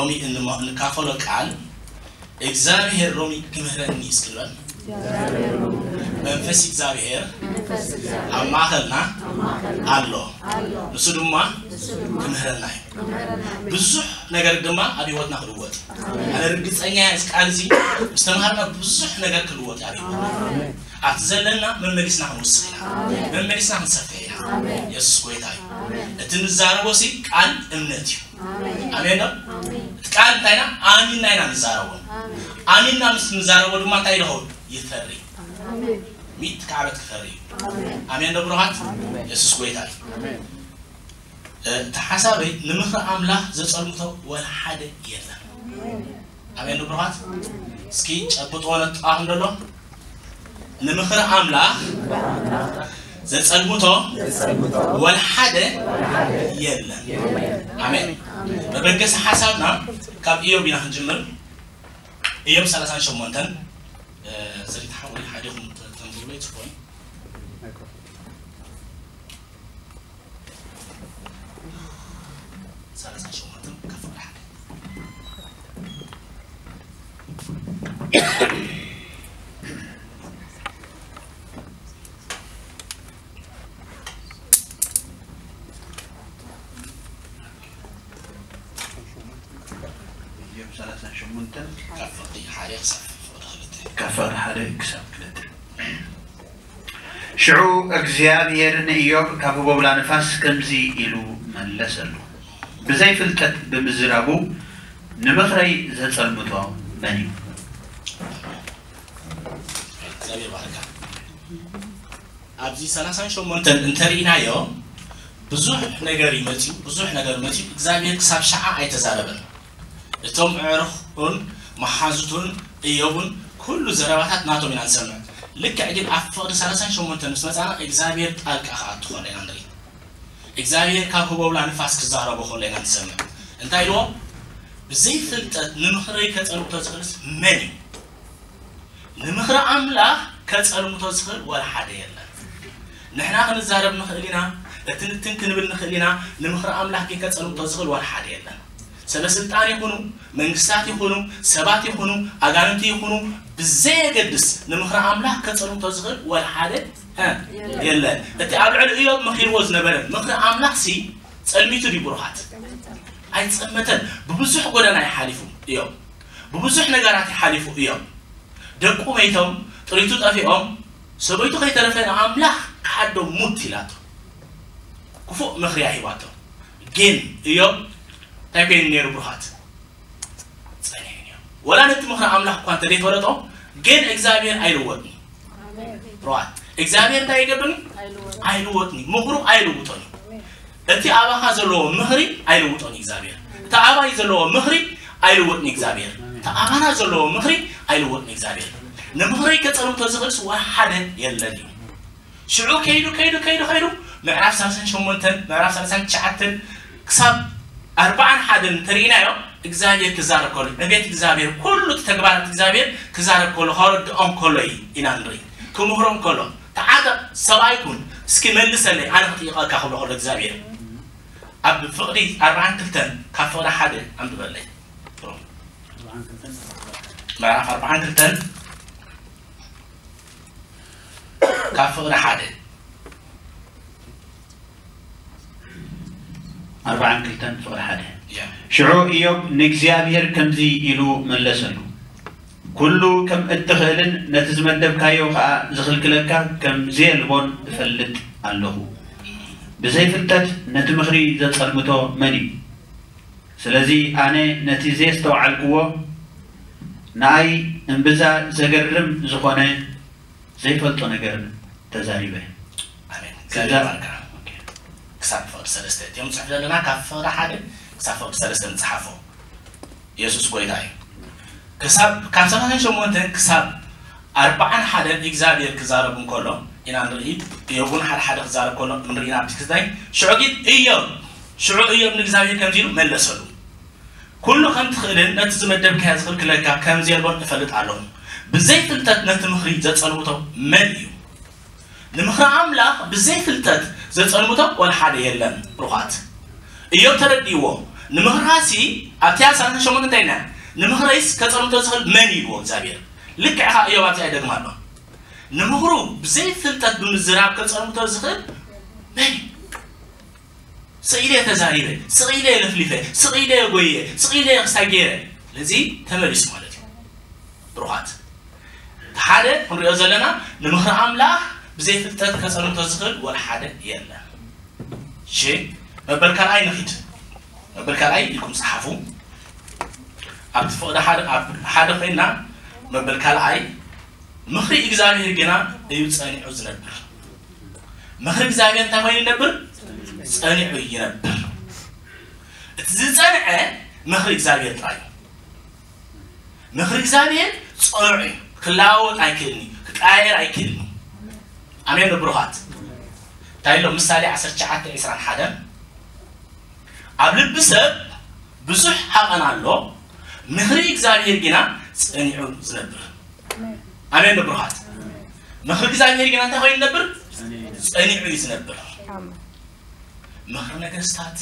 ሎሚ እንማ- እንካፈሎ ቃል እግዚኣብሔር ሎሚ ክምህረኒ እስክንበል መንፈስ እግዚኣብሔር ኣብ ማእኸልና ኣሎ። ንሱ ድማ ክምህረና እዩ። ብዙሕ ነገር ድማ ኣብ ህይወትና ክልወጥ እዩ። ኣነ ርግፀኛ እየ፣ እዚ ቃል እዚ ምስ ተምሃርና ብዙሕ ነገር ክልወጥ እዩ ኣብ ህይወትና። ኣብቲ ዘለና መመሊስና ክንውስኽ ኢና፣ መመሊስና ክንሰፍሕ ኢና። የሱስ ጎይታ እዩ። እቲ ንዛረቦ ሲ ቃል እምነት እዩ። ኣሜን ዶ? እቲ ቃል እንታይ ኢና? ኣሚንና ኢና ንዛረቦ። ኣሚንና ምስ ንዛረቦ ድማ እንታይ ይኸውን? ይፈሪ። ሚእቲ ክዓበት ክፈሪ እዩ። ኣሜን ዶ ብሩኻት? የሱስ ጎይታ እዩ። እቲ ሓሳበይ ንምኽሪ ኣምላኽ ዘጸልምቶ ወላ ሓደ የለን። ኣሜን ዶ ብሩኻት? እስኪ ጨብጥዎ ነጥቓኹም ደሎ። ንምኽሪ ኣምላኽ ዘጸልምቶ ወላ ሓደ የለን። ኣሜን። መበገሲ ሓሳብና ካብ ኢዮብ ኢና ክንጅምር። ኢዮብ ሰላሳን ሸሞንተን፣ እ፣ ሰሪት ሓወይ ሓዲኹም ተ- ተንብብለይ ጽቡቕ እዩ። ሰላሳን ሸሞንተን ካብ ፍቕሪ ሓደ። ኢዮብ ሰላሳን ሸሞንተን ካብ ፍቕሪ ሓደ ክሳብ ፍቕሪ ክልተ። ካብ ፍቕሪ ሓደ ክሳብ ክልተ። ሽዑ እግዚኣብሔር ንኢዮብ ካብ ህቦብላ ንፋስ ከምዚ ኢሉ መለሰሉ፣ ብዘይ ፍልጠት ብምዝራቡ ንምኽረይ ዘጸልምቶ መን እዩ? እግዚኣብሔር ባርካ። ኣብዚ ሰላሳን ሸሞንተን እንተርኢናዮ ብዙሕ ነገር እዩ መፅዩ፣ ብዙሕ ነገር መፅዩ። እግዚኣብሔር ክሳብ ሸዓ ኣይተዛረበን። እቶም ኣዕሩኹን መሓዙቱን እዮብን ኩሉ ዘረባታት ናቶም ኢና ንሰምዕ። ልክዕ ግን ኣብ ፍቕዲ ሰላሳን ሸሞንተን ምስ መፃና እግዚኣብሔር ጣልቃ ክኣቱ ከሎ ኢና ንርኢ። እግዚኣብሔር ካብ ህቦብላ ንፋስ ክዛረቦ ከሎ ኢና ንሰምዕ። እንታይ ኢልዎ? ብዘይ ፍልጠት ንምኽረይ ከጸልምቶ ዝኽእልስ መን እዩ? ንምኽሪ ኣምላኽ ከጸልምቶ ዝኽእል ወላ ሓደ የለን። ንሕና ክንዛረብ ንኽእል ኢና፣ እትንትን ክንብል ንኽእል ኢና፣ ንምኽሪ ኣምላኽ ግን ከጸልምቶ ዝኽእል ወላ ሓደ የለን። ሰበ ስልጣን ይኹኑ፣ መንግስታት ይኹኑ፣ ሰባት ይኹኑ፣ ኣጋንንቲ ይኹኑ፣ ብዘየገድስ ንምኽሪ ኣምላኽ ከጸልምቶ ዝኽእል ወላ ሓደ፣ እ፣ የለን። እቲ ኣብ ልዕሊ እዮብ መኺርዎ ዝነበረ ምኽሪ ኣምላኽ ሲ ጸልሚቱ ድዩ ብሩኻት? ኣይጸመተን። ብብዙሕ ጎደና ይሓሊፉ እዮም። ብብዙሕ ነገራት ይሓሊፉ እዮም። ደቁ መይቶም፣ ጥሪቱ ጠፊኦም፣ ሰበይቱ ከይተረፈ ንኣምላኽ ክሓዶ ሙት ኢላቶ። ክፉእ ምኽሪ እያ ሂባቶ። ግን እዮም እንታይ ኮይኑ ነይሩ ብሩኻት? ጸኒሑ እዮም። ወላ ነቲ ምኽሪ ኣምላኽ እኳ እንተ ዘይፈለጦ፣ ግን እግዚኣብሔር ኣይልወጥን። ሮኣት እግዚኣብሔር እንታይ ይገብርኒ? ኣይልወጥን። ምኽሩ ኣይልውጦን እዩ። እቲ ኣባኻ ዘለዎ ምኽሪ ኣይልውጦን እዩ እግዚኣብሔር። እቲ ኣባይ ዘለዎ ምኽሪ ኣይልወጥን እዩ እግዚኣብሔር። እቲ ኣባና ዘለዎ ምኽሪ ኣይልወጥን እዩ እግዚኣብሔር። ንምኽሪ ከጸልምቶ ዝኽእልስ ወላ ሓደ የለን እዩ። ሽዑ ከይዱ ከይዱ ከይዱ ከይዱ ምዕራፍ ሰላሳን ሸሞንተን ምዕራፍ ሰላሳን ትሽዓተን ክሳብ ኣርባዓን ሓደን እንተርኢናዮ፣ እግዚኣብሔር ክዛረብ ከሎ፣ ዕቤት እግዚኣብሔር፣ ኩሉ እቲ ተግባራት እግዚኣብሔር ክዛረብ ከሎ፣ ከረድኦም ከሎ እዩ ኢና ንርኢ። ክምህሮም ከሎ፣ ተዓጠቕ፣ ሰብኣይ ኩን፣ እስኪ መልሰለይ፣ ኣነ ክጥይቐካ ክብሎ ከሎ እግዚኣብሔር። ኣብ ፍቕዲ ኣርባዓን ክልተን ካብ ፍቕዲ ሓደ ኣንብበለይ። ምዕራፍ ኣርባዓን ክልተን ካብ ፍቕዲ ሓደ። ኣርባዓን ክልተን ፍቕዲ ሓደ። ያ። ሽዑ ኢዮብ ንእግዚኣብሔር ከምዚ ኢሉ መለሰሉ፣ "ኩሉ ከም እትኽእልን ነቲ ዝመደብካዮ ኸኣ ዝኽልክለካ ከም ዘየልቦን እፈልጥ ኣለኹ። ብዘይ ፍልጠት ነቲ ምኽሪ ዘጸልምቶ መን እዩ? ስለዚ ኣነ ነቲ ዘየስተውዓልክዎ፣ ንኣይ እምብዛ ዘገርም ዝኾነ ዘይፈልጦ ነገር ተዛሪበ።" ኣሜን። ክዛ- እግዚኣብሔር ይባርካ። ኦኬ። ክሳብ ፍቕዲ ሰለስተ እቲኦም ንጽሕፍ ዘለና፣ ካብ ፍቕዲ ሓደ ክሳብ ፍቕዲ ሰለስተ ንጽሓፎ። የሱስ ጎይታ እዩ። ክሳብ፣ ካብ ሰላሳን ሸሞንተን ክሳብ ኣርባዓን ሓደን እግዚኣብሔር ክዛረብ እንከሎ ኢና ንርኢ። እዮብ እውን ሓደ ሓደ ክዛረብ ከሎ ንርኢ ኢና ኣብቲ ክስታይ። ሽዑ ግን እዮብ፣ ሽዑ እዮብ ንእግዚኣብሔር ከምዚ ኢሉ መለሰሉ። "ኩሉ ከም ትኽእልን ነቲ ዝመደብካዮ ዝኽልክለካ ከም ዘየልቦን እፈልጥ ኣለኹ። ብዘይ ፍልጠት ነቲ ምኽሪ ዘጸልምቶ መን እዩ?" ንምኽሪ ኣምላኽ ብዘይ ፍልጠት ዘጸልምቶ ወላ ሓደ የለን። ብሩኻት፣ እዮብ ተረዲእዎ፣ ንምኽርኻሲ ኣብቲ ሰላሳ ሸሞንተ እንታይ ኢልና? ንምኽረይስ ከጸልምቶ ዝኽእል መን እዩ ኢልዎ እግዚኣብሔር። ልክዕ ኸኣ እዮብ ኣብዚኣ ይደግማ ኣሎ። ንምኽሩ ብዘይፍልጠት ብምዝራብ ከጸልምቶ ዝኽእል መን እዩ? ስቕ ኢለ ተዛሪበ፣ ስቕ ኢለ ለፍሊፈ፣ ስቕ ኢለ ጎየ፣ ስቕ ኢለ ክስታይ ገይረ። ስለዚ ተመሊሱ ማለት እዩ። ብሩኻት፣ እቲ ሓደ ክንሪኦ ዘለና ንምኽሪ ኣምላኽ ብዘይፍልጠት ከጸልምቶ ዝኽእል ወላ ሓደ የለን። እሺ፣ መበል ካልኣይ ንኺድ። መበል ካልኣይ ኢልኩም ጸሓፉ። ኣብቲ ፍቕዲ ሓደ፣ ኣብ ሓደ ኮይና መበል ካልኣይ፣ ምኽሪ እግዚኣብሔር ግና እዩ ጸኒዑ ዝነብር። ምኽሪ እግዚኣብሔር እንታይ ኮይኑ ይነብር? ጸኒዑ ይነብር። እቲ ዝጸንዐ ምኽሪ እግዚኣብሔር ጥራይ እዩ። ምኽሪ እግዚኣብሔር ጽኑዕ እዩ። ክለዋወጥ ኣይክእልን እዩ። ክቀያየር ኣይክእልን እዩ። ኣሜን ብሩኻት። እንታይ ኣሎ? ምሳሌ ዓሰርተ ትሽዓተ ዕስራን ሓደን፣ ኣብ ልቢ ሰብ ብዙሕ ሃቐን ኣሎ፣ ምኽሪ እግዚኣብሔር ግና ጸኒዑ ዝነብር። ኣሜን ብሩኻት። ምኽሪ እግዚኣብሔር ግና እንታይ ኮይኑ ይነብር? ጸኒዑ እዩ ዝነብር። ኣሜን። ምኽሪ ነገስታት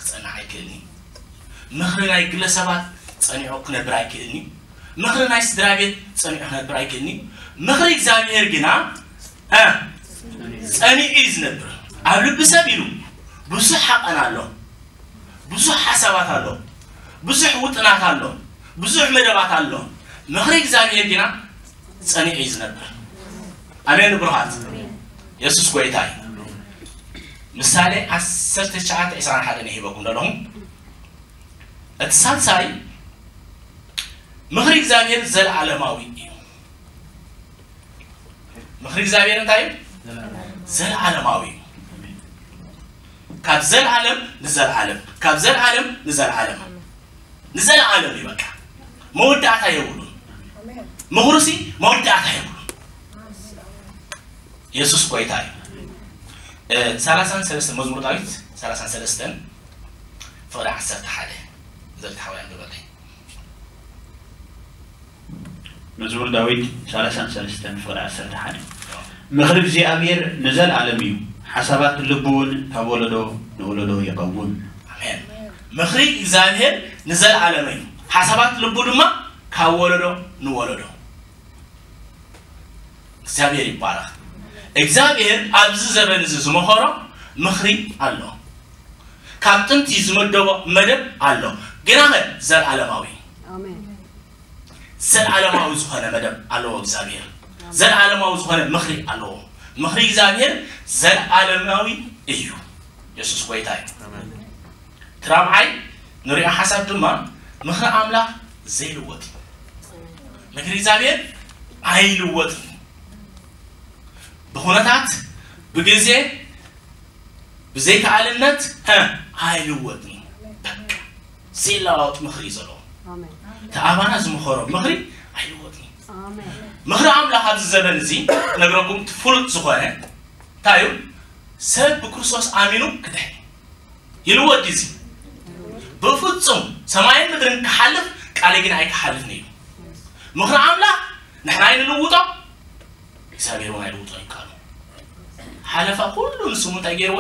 ክጸንዕ ኣይክእልን እዩ። ምኽሪ ናይ ግለሰባት ጸኒዑ ክነብር ኣይክእልን እዩ። ምኽሪ ናይ ስድራ ቤት ጸኒዑ ክነብር ኣይክእልን እዩ። ምኽሪ እግዚኣብሔር ግና፣ እ፣ ጸኒዑ እዩ ዝነብር። ኣብ ልቢ ሰብ ኢሉ ብዙሕ ሓቐን ኣሎ፣ ብዙሕ ሓሳባት ኣሎ፣ ብዙሕ ውጥናት ኣሎ፣ ብዙሕ መደባት ኣሎ። ምኽሪ እግዚኣብሔር ግና ጸኒዑ እዩ ዝነብር። ኣሜን ብሩኻት። የሱስ ጎይታ እዩ። ምሳሌ ዓሰርተ ትሽዓተ ዕስራን ሓደን ሂበኩም ዘለኹ። እቲ ሳልሳይ፣ ምኽሪ እግዚኣብሔር ዘለዓለማዊ እዩ። ምኽሪ እግዚኣብሔር እንታይ እዩ? ዘለዓለማዊ እዩ። ካብ ዘለዓለም ንዘለዓለም፣ ካብ ዘለዓለም ንዘለዓለም፣ ንዘለዓለም እዩ። በቃ መወዳእታ የብሉን። ምኽሩሲ መወዳእታ የብሉን። የሱስ ጎይታ እዩ። እ፣ ሰላሳን ሰለስተን፣ መዝሙር ዳዊት ሰላሳን ሰለስተን ፍቕዲ ዓሰርተ ሓደ፣ ዘልካ ሓወይ ኣንብበለይ። መዝሙር ዳዊት ሰላሳን ሰለስተን ፍቕዲ ዓሰርተ ሓደ። ምኽሪ እግዚኣብሔር ንዘለዓለም እዩ፣ ሓሳባት ልቡ እውን ካብ ወለዶ ንወለዶ ይቐውም። ኣሜን። ምኽሪ እግዚኣብሔር ንዘለዓለም እዩ፣ ሓሳባት ልቡ ድማ ካብ ወለዶ ንወለዶ። እግዚኣብሔር ይባረኽ። እግዚኣብሔር ኣብዚ ዘበን እዚ ዝመኸሮ ምኽሪ ኣሎ። ካብ ጥንቲ ዝመደቦ መደብ ኣሎ። ግናኸ ዘለዓለማዊ እዩ። ኣሜን። ዘለዓለማዊ ዝኾነ መደብ ኣለዎ እግዚኣብሔር። ዘለዓለማዊ ዝኾነ ምኽሪ ኣለዎ። ምኽሪ እግዚኣብሔር ዘለዓለማዊ እዩ። የሱስ ጎይታ እዩ። ኣሜን። እቲ ራብዓይ ንሪኦ ሓሳብ ድማ ምኽሪ ኣምላኽ ዘይልወጥ እዩ። ምኽሪ እግዚኣብሔር ኣይልወጥን እዩ። ብኹነታት፣ ብግዜ፣ ብዘይከኣልነት፣ ሀ፣ ኣይልወጥን እዩ። በቃ ዘይለዋወጥ ምኽሪ እዩ ዘለዎ። ኣሜን። እቲ ኣባና ዝመኸሮ ምኽሪ ኣይልወጥን እዩ። ኣሜን። ምኽሪ ኣምላኽ ኣብዚ ዘበን እዚ ክነግረኩም እቲ ፍሉጥ ዝኾነ እንታይ እዩ? ሰብ ብክርስቶስ ኣሚኑ ክድሕን እዩ። ይልወጥ ድዩ እዚ? ብፍጹም ሰማይን ምድርን ክሓልፍ ቃለይ ግን ኣይክሓልፍን እዩ። ምኽሪ ኣምላኽ ንሕና ኣይንልውጦ፣ እግዚኣብሔር እውን ኣይልውጦ ይከኣሉ። ሓለፋ ኩሉ ንስሙ እንታይ ገይርዎ?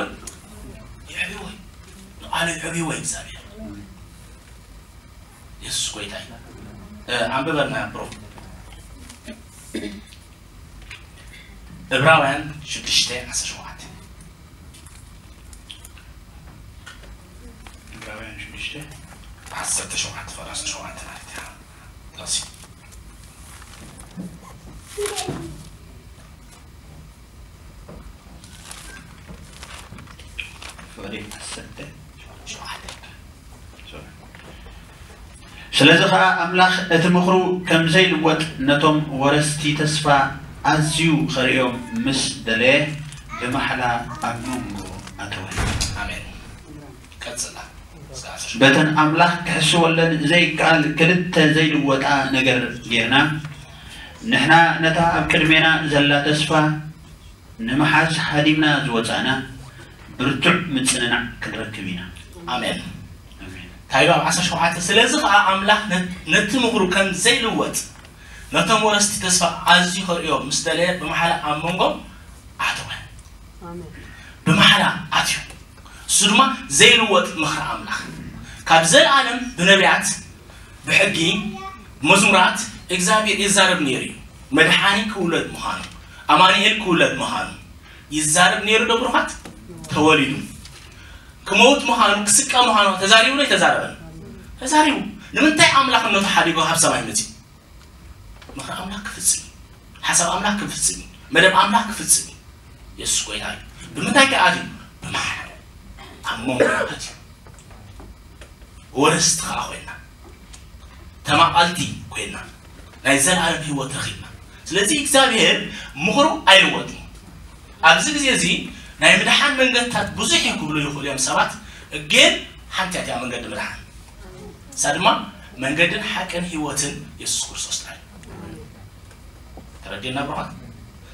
ይዕብዎ። ንቃሉ ይዕብዎ እግዚኣብሔር። የሱስ ጎይታ እዩ። እ፣ ኣንብበልና ብሮ። ዕብራውያን ሽዱሽተ ዓሰርተ ሸውዓተ። ዕብራውያን ሽዱሽተ ዓሰርተ ሸውዓተ፣ ፍቕዲ ዓሰርተ ሸውዓተ ማለት እዩ። ጥቕሲ። ፍቕዲ ዓሰርተ ሸውዓተ። ሶሪ። ስለዚ ኸኣ ኣምላኽ እቲ ምኽሩ ከም ዘይልወጥ ነቶም ወረስቲ ተስፋ ኣዝዩ ኸርእዮም ምስ ደለየ ብማሕላ ኣብ መንጎ ኣተወ። ኣሜን። ቀጽላ። በተን ኣምላኽ ክሕስወለን ዘይከኣል ክልተ ዘይልወጣ ነገር ጌርና፣ ንሕና ነታ ኣብ ቅድሜና ዘላ ተስፋ ንምሓዝ ሃዲምና ዝወጻእና ብርቱዕ ምጽንናዕ ክንረክብ ኢና። ኣሜን። ኣሜን። እንታይ ኢሉ ኣብ ዓሰርተ ሸውዓተ? ስለዚ ኸኣ ኣምላኽ ነ-፣ ነቲ ምኽሩ ከም ዘይልወጥ ነቶም ወረስቲ ተስፋ ኣዝዩ ከርእዮም ምስ ደለየ ብማሕላ ኣብ መንጎ ኣተወ። ኣሜን። ብማሕላ ኣትዩ። እሱ ድማ ዘይልወጥ ምኽሪ ኣምላኽ። ካብ ዘለኣለም ብነቢያት፣ ብሕጊ፣ ብመዝሙራት እግዚኣብሔር ይዛረብ ነይሩ እዩ። መድሓኒ ክውለድ ምዃኑ፣ ኣማኑኤል ክውለድ ምዃኑ ይዛረብ ነይሩ ዶ ብሩኻት? ተወሊዱ። ክመውት ምዃኑ፣ ክስቀ ምዃኑ ተዛሪቡ ዶ ኣይተዛረበን? ተዛሪቡ። ንምንታይ ኣምላኽነቱ ሓዲጎ ካብ ሰማይ መጺኡ? ምኽሪ ኣምላኽ ክፍጽም እዩ። ሓሳብ ኣምላኽ ክፍጽም እዩ። መደብ ኣምላኽ ክፍጽም እዩ። የሱስ ጎይታ እዩ። ብምንታይ ከ ኣትዩ? ብማሕበር ኣብ መንጎ ኣትዩ። ወረስቲ ከኣ ኮይና፣ ተማቓልቲ ኮይና፣ ናይ ዘለኣለም ህይወት ረኺብና። ስለዚ እግዚኣብሔር ምኽሩ ኣይልወጥን። ኣብዚ ግዜ እዚ ናይ ምድሓን መንገድታት ብዙሕ እዮም ክብሉ ይኽእሉ እዮም ሰባት፣ ግን ሓንቲ እያ መንገዲ ምድሓን። እሳ ድማ መንገድን ሓቅን ህይወትን የሱስ ክርስቶስ ጥራይ። ተረዲእና ብሩኻት?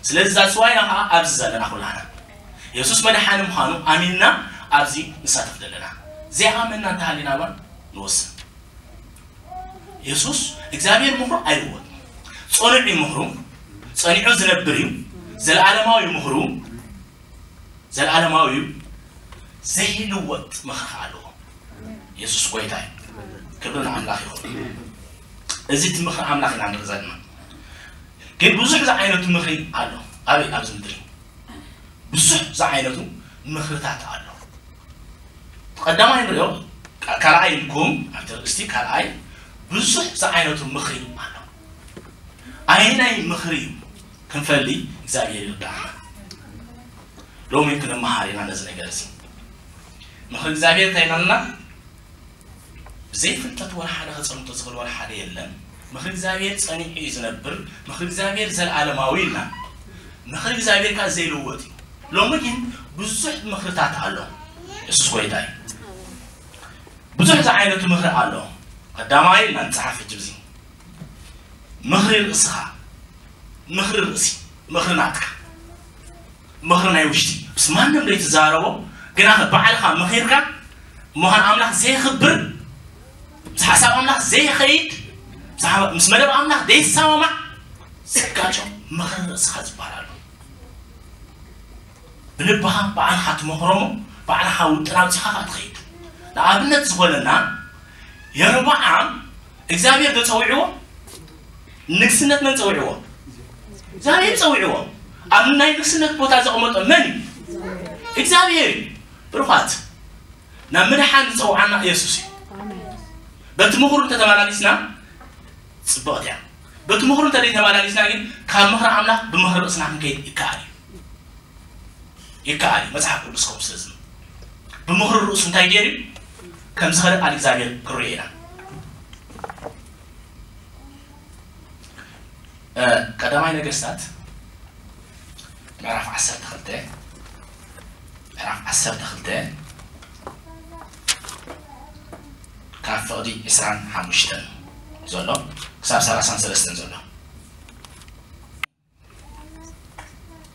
ስለዚ እዛ ዝዋይና ከዓ ኣብዚ ዘለና ኩላና የሱስ መድሓኒ ምዃኑ ኣሚንና ኣብዚ ንሳተፍ ዘለና። ዘይኣመንና እንተሃሊና እባ ንወስን። የሱስ እግዚኣብሔር ምኽሩ ኣይልወጥን። ጽኑዕ እዩ ምኽሩ፣ ጸኒዑ ዝነብር እዩ። ዘለዓለማዊ ምኽሩ፣ ዘለዓለማዊ እዩ። ዘይልወጥ ምኽሪ ኣለዎ። የሱስ ጎይታ እዩ። ክብሪ ንኣምላኽ ይኹን። እዚ እቲ ምኽሪ ኣምላኽ ኢና ንርኢ ዘለና። ግን ብዙሕ ዝዓይነቱ ምኽሪ ኣሎ። ኣበይ? ኣብዚ ምድሪ ብዙሕ ዝዓይነቱ ምኽርታት ኣሎ። ቀዳማይ ንሪኦ፣ ካ-፣ ካልኣይ ኢልኩም ኣብቲ ርእስቲ ካልኣይ ብዙሕ ዝዓይነቱ ምኽሪ ኣሎ። ኣየናይ ምኽሪ እዩ ክንፈሊ እግዚኣብሔር ይርዳእና። ሎሚ ክንመሃር ኢና ነዚ ነገር እዚ። ምኽሪ እግዚኣብሔር እንታይ ኢልና? ብዘይ ፍልጠት ወላ ሓደ ከጸንቶ ዝኽእል ወላ ሓደ የለን። ምኽሪ እግዚኣብሔር ጸኒዑ እዩ ዝነብር። ምኽሪ እግዚኣብሔር ዘለዓለማዊ ኢልና። ምኽሪ እግዚኣብሔር ከኣ ዘይልወጥ እዩ። ሎሚ ግን ብዙሕ ምኽርታት ኣሎ። የሱስ ጎይታ እዩ። ብዙሕ ዝዓይነቱ ምኽሪ ኣሎ። ቀዳማይ ኢልና ንጽሓፍ ሕጂ፣ እዚ ምኽሪ ርእስኻ፣ ምኽሪ ርእሲ፣ ምኽሪ ናትካ፣ ምኽሪ ናይ ውሽጢ፣ ምስ ማንም ዘይትዛረቦ፣ ግና ባዕልኻ መኺርካ፣ ምዃን ኣምላኽ ዘየኽብር፣ ምስ ሓሳብ ኣምላኽ ዘይኸይድ፣ ምስ ሓ-፣ ምስ መደብ ኣምላኽ ዘይሰማማዕ፣ ዝጋጮ ምኽሪ ርእስኻ ዝበሃል ኣሎ። ብልብኻ ባዕልኻ ትመኽሮ እሞ፣ ባዕልኻ ውጥን ኣውጺኻ ኸኣ ትኸይድ። ንኣብነት ዝኾነና፣ የሮብዓም እግዚኣብሔር ዶ ጸዊዕዎ? ንግስነት መን ጸዊዕዎ? እግዚኣብሔር ጸዊዕዎ። ኣብ ናይ ንግስነት ቦታ ዘቐመጦ መን እዩ? እግዚኣብሔር እዩ። ብሩኻት፣ ናብ ምድሓን ዝጸውዓና ኢየሱስ እዩ። በቲ ምኽሩ እንተተመላሊስና ጽብቕቲ እያ። በቲ ምኽሩ እንተዘይተመላሊስና ግን ካብ ምኽሪ ኣምላኽ ብምኽሪ ርእስና ክንከይድ ይከኣል እዩ። ይከኣል እዩ። መጽሓፍ ቅዱስ ከምኡ ስለ ዝብል ብምኽሪ ርእሱ እንታይ ገይሩ እዩ? ከም ዝኸደ ቃል እግዚኣብሔር ክንሪኦ ኢና። እ፣ ቀዳማይ ነገስታት ምዕራፍ ዓሰርተ ክልተ፣ ምዕራፍ ዓሰርተ ክልተ ካብ ፍቕዲ ዕስራን ሓሙሽተን ዘሎ ክሳብ ሰላሳን ሰለስተን ዘሎ።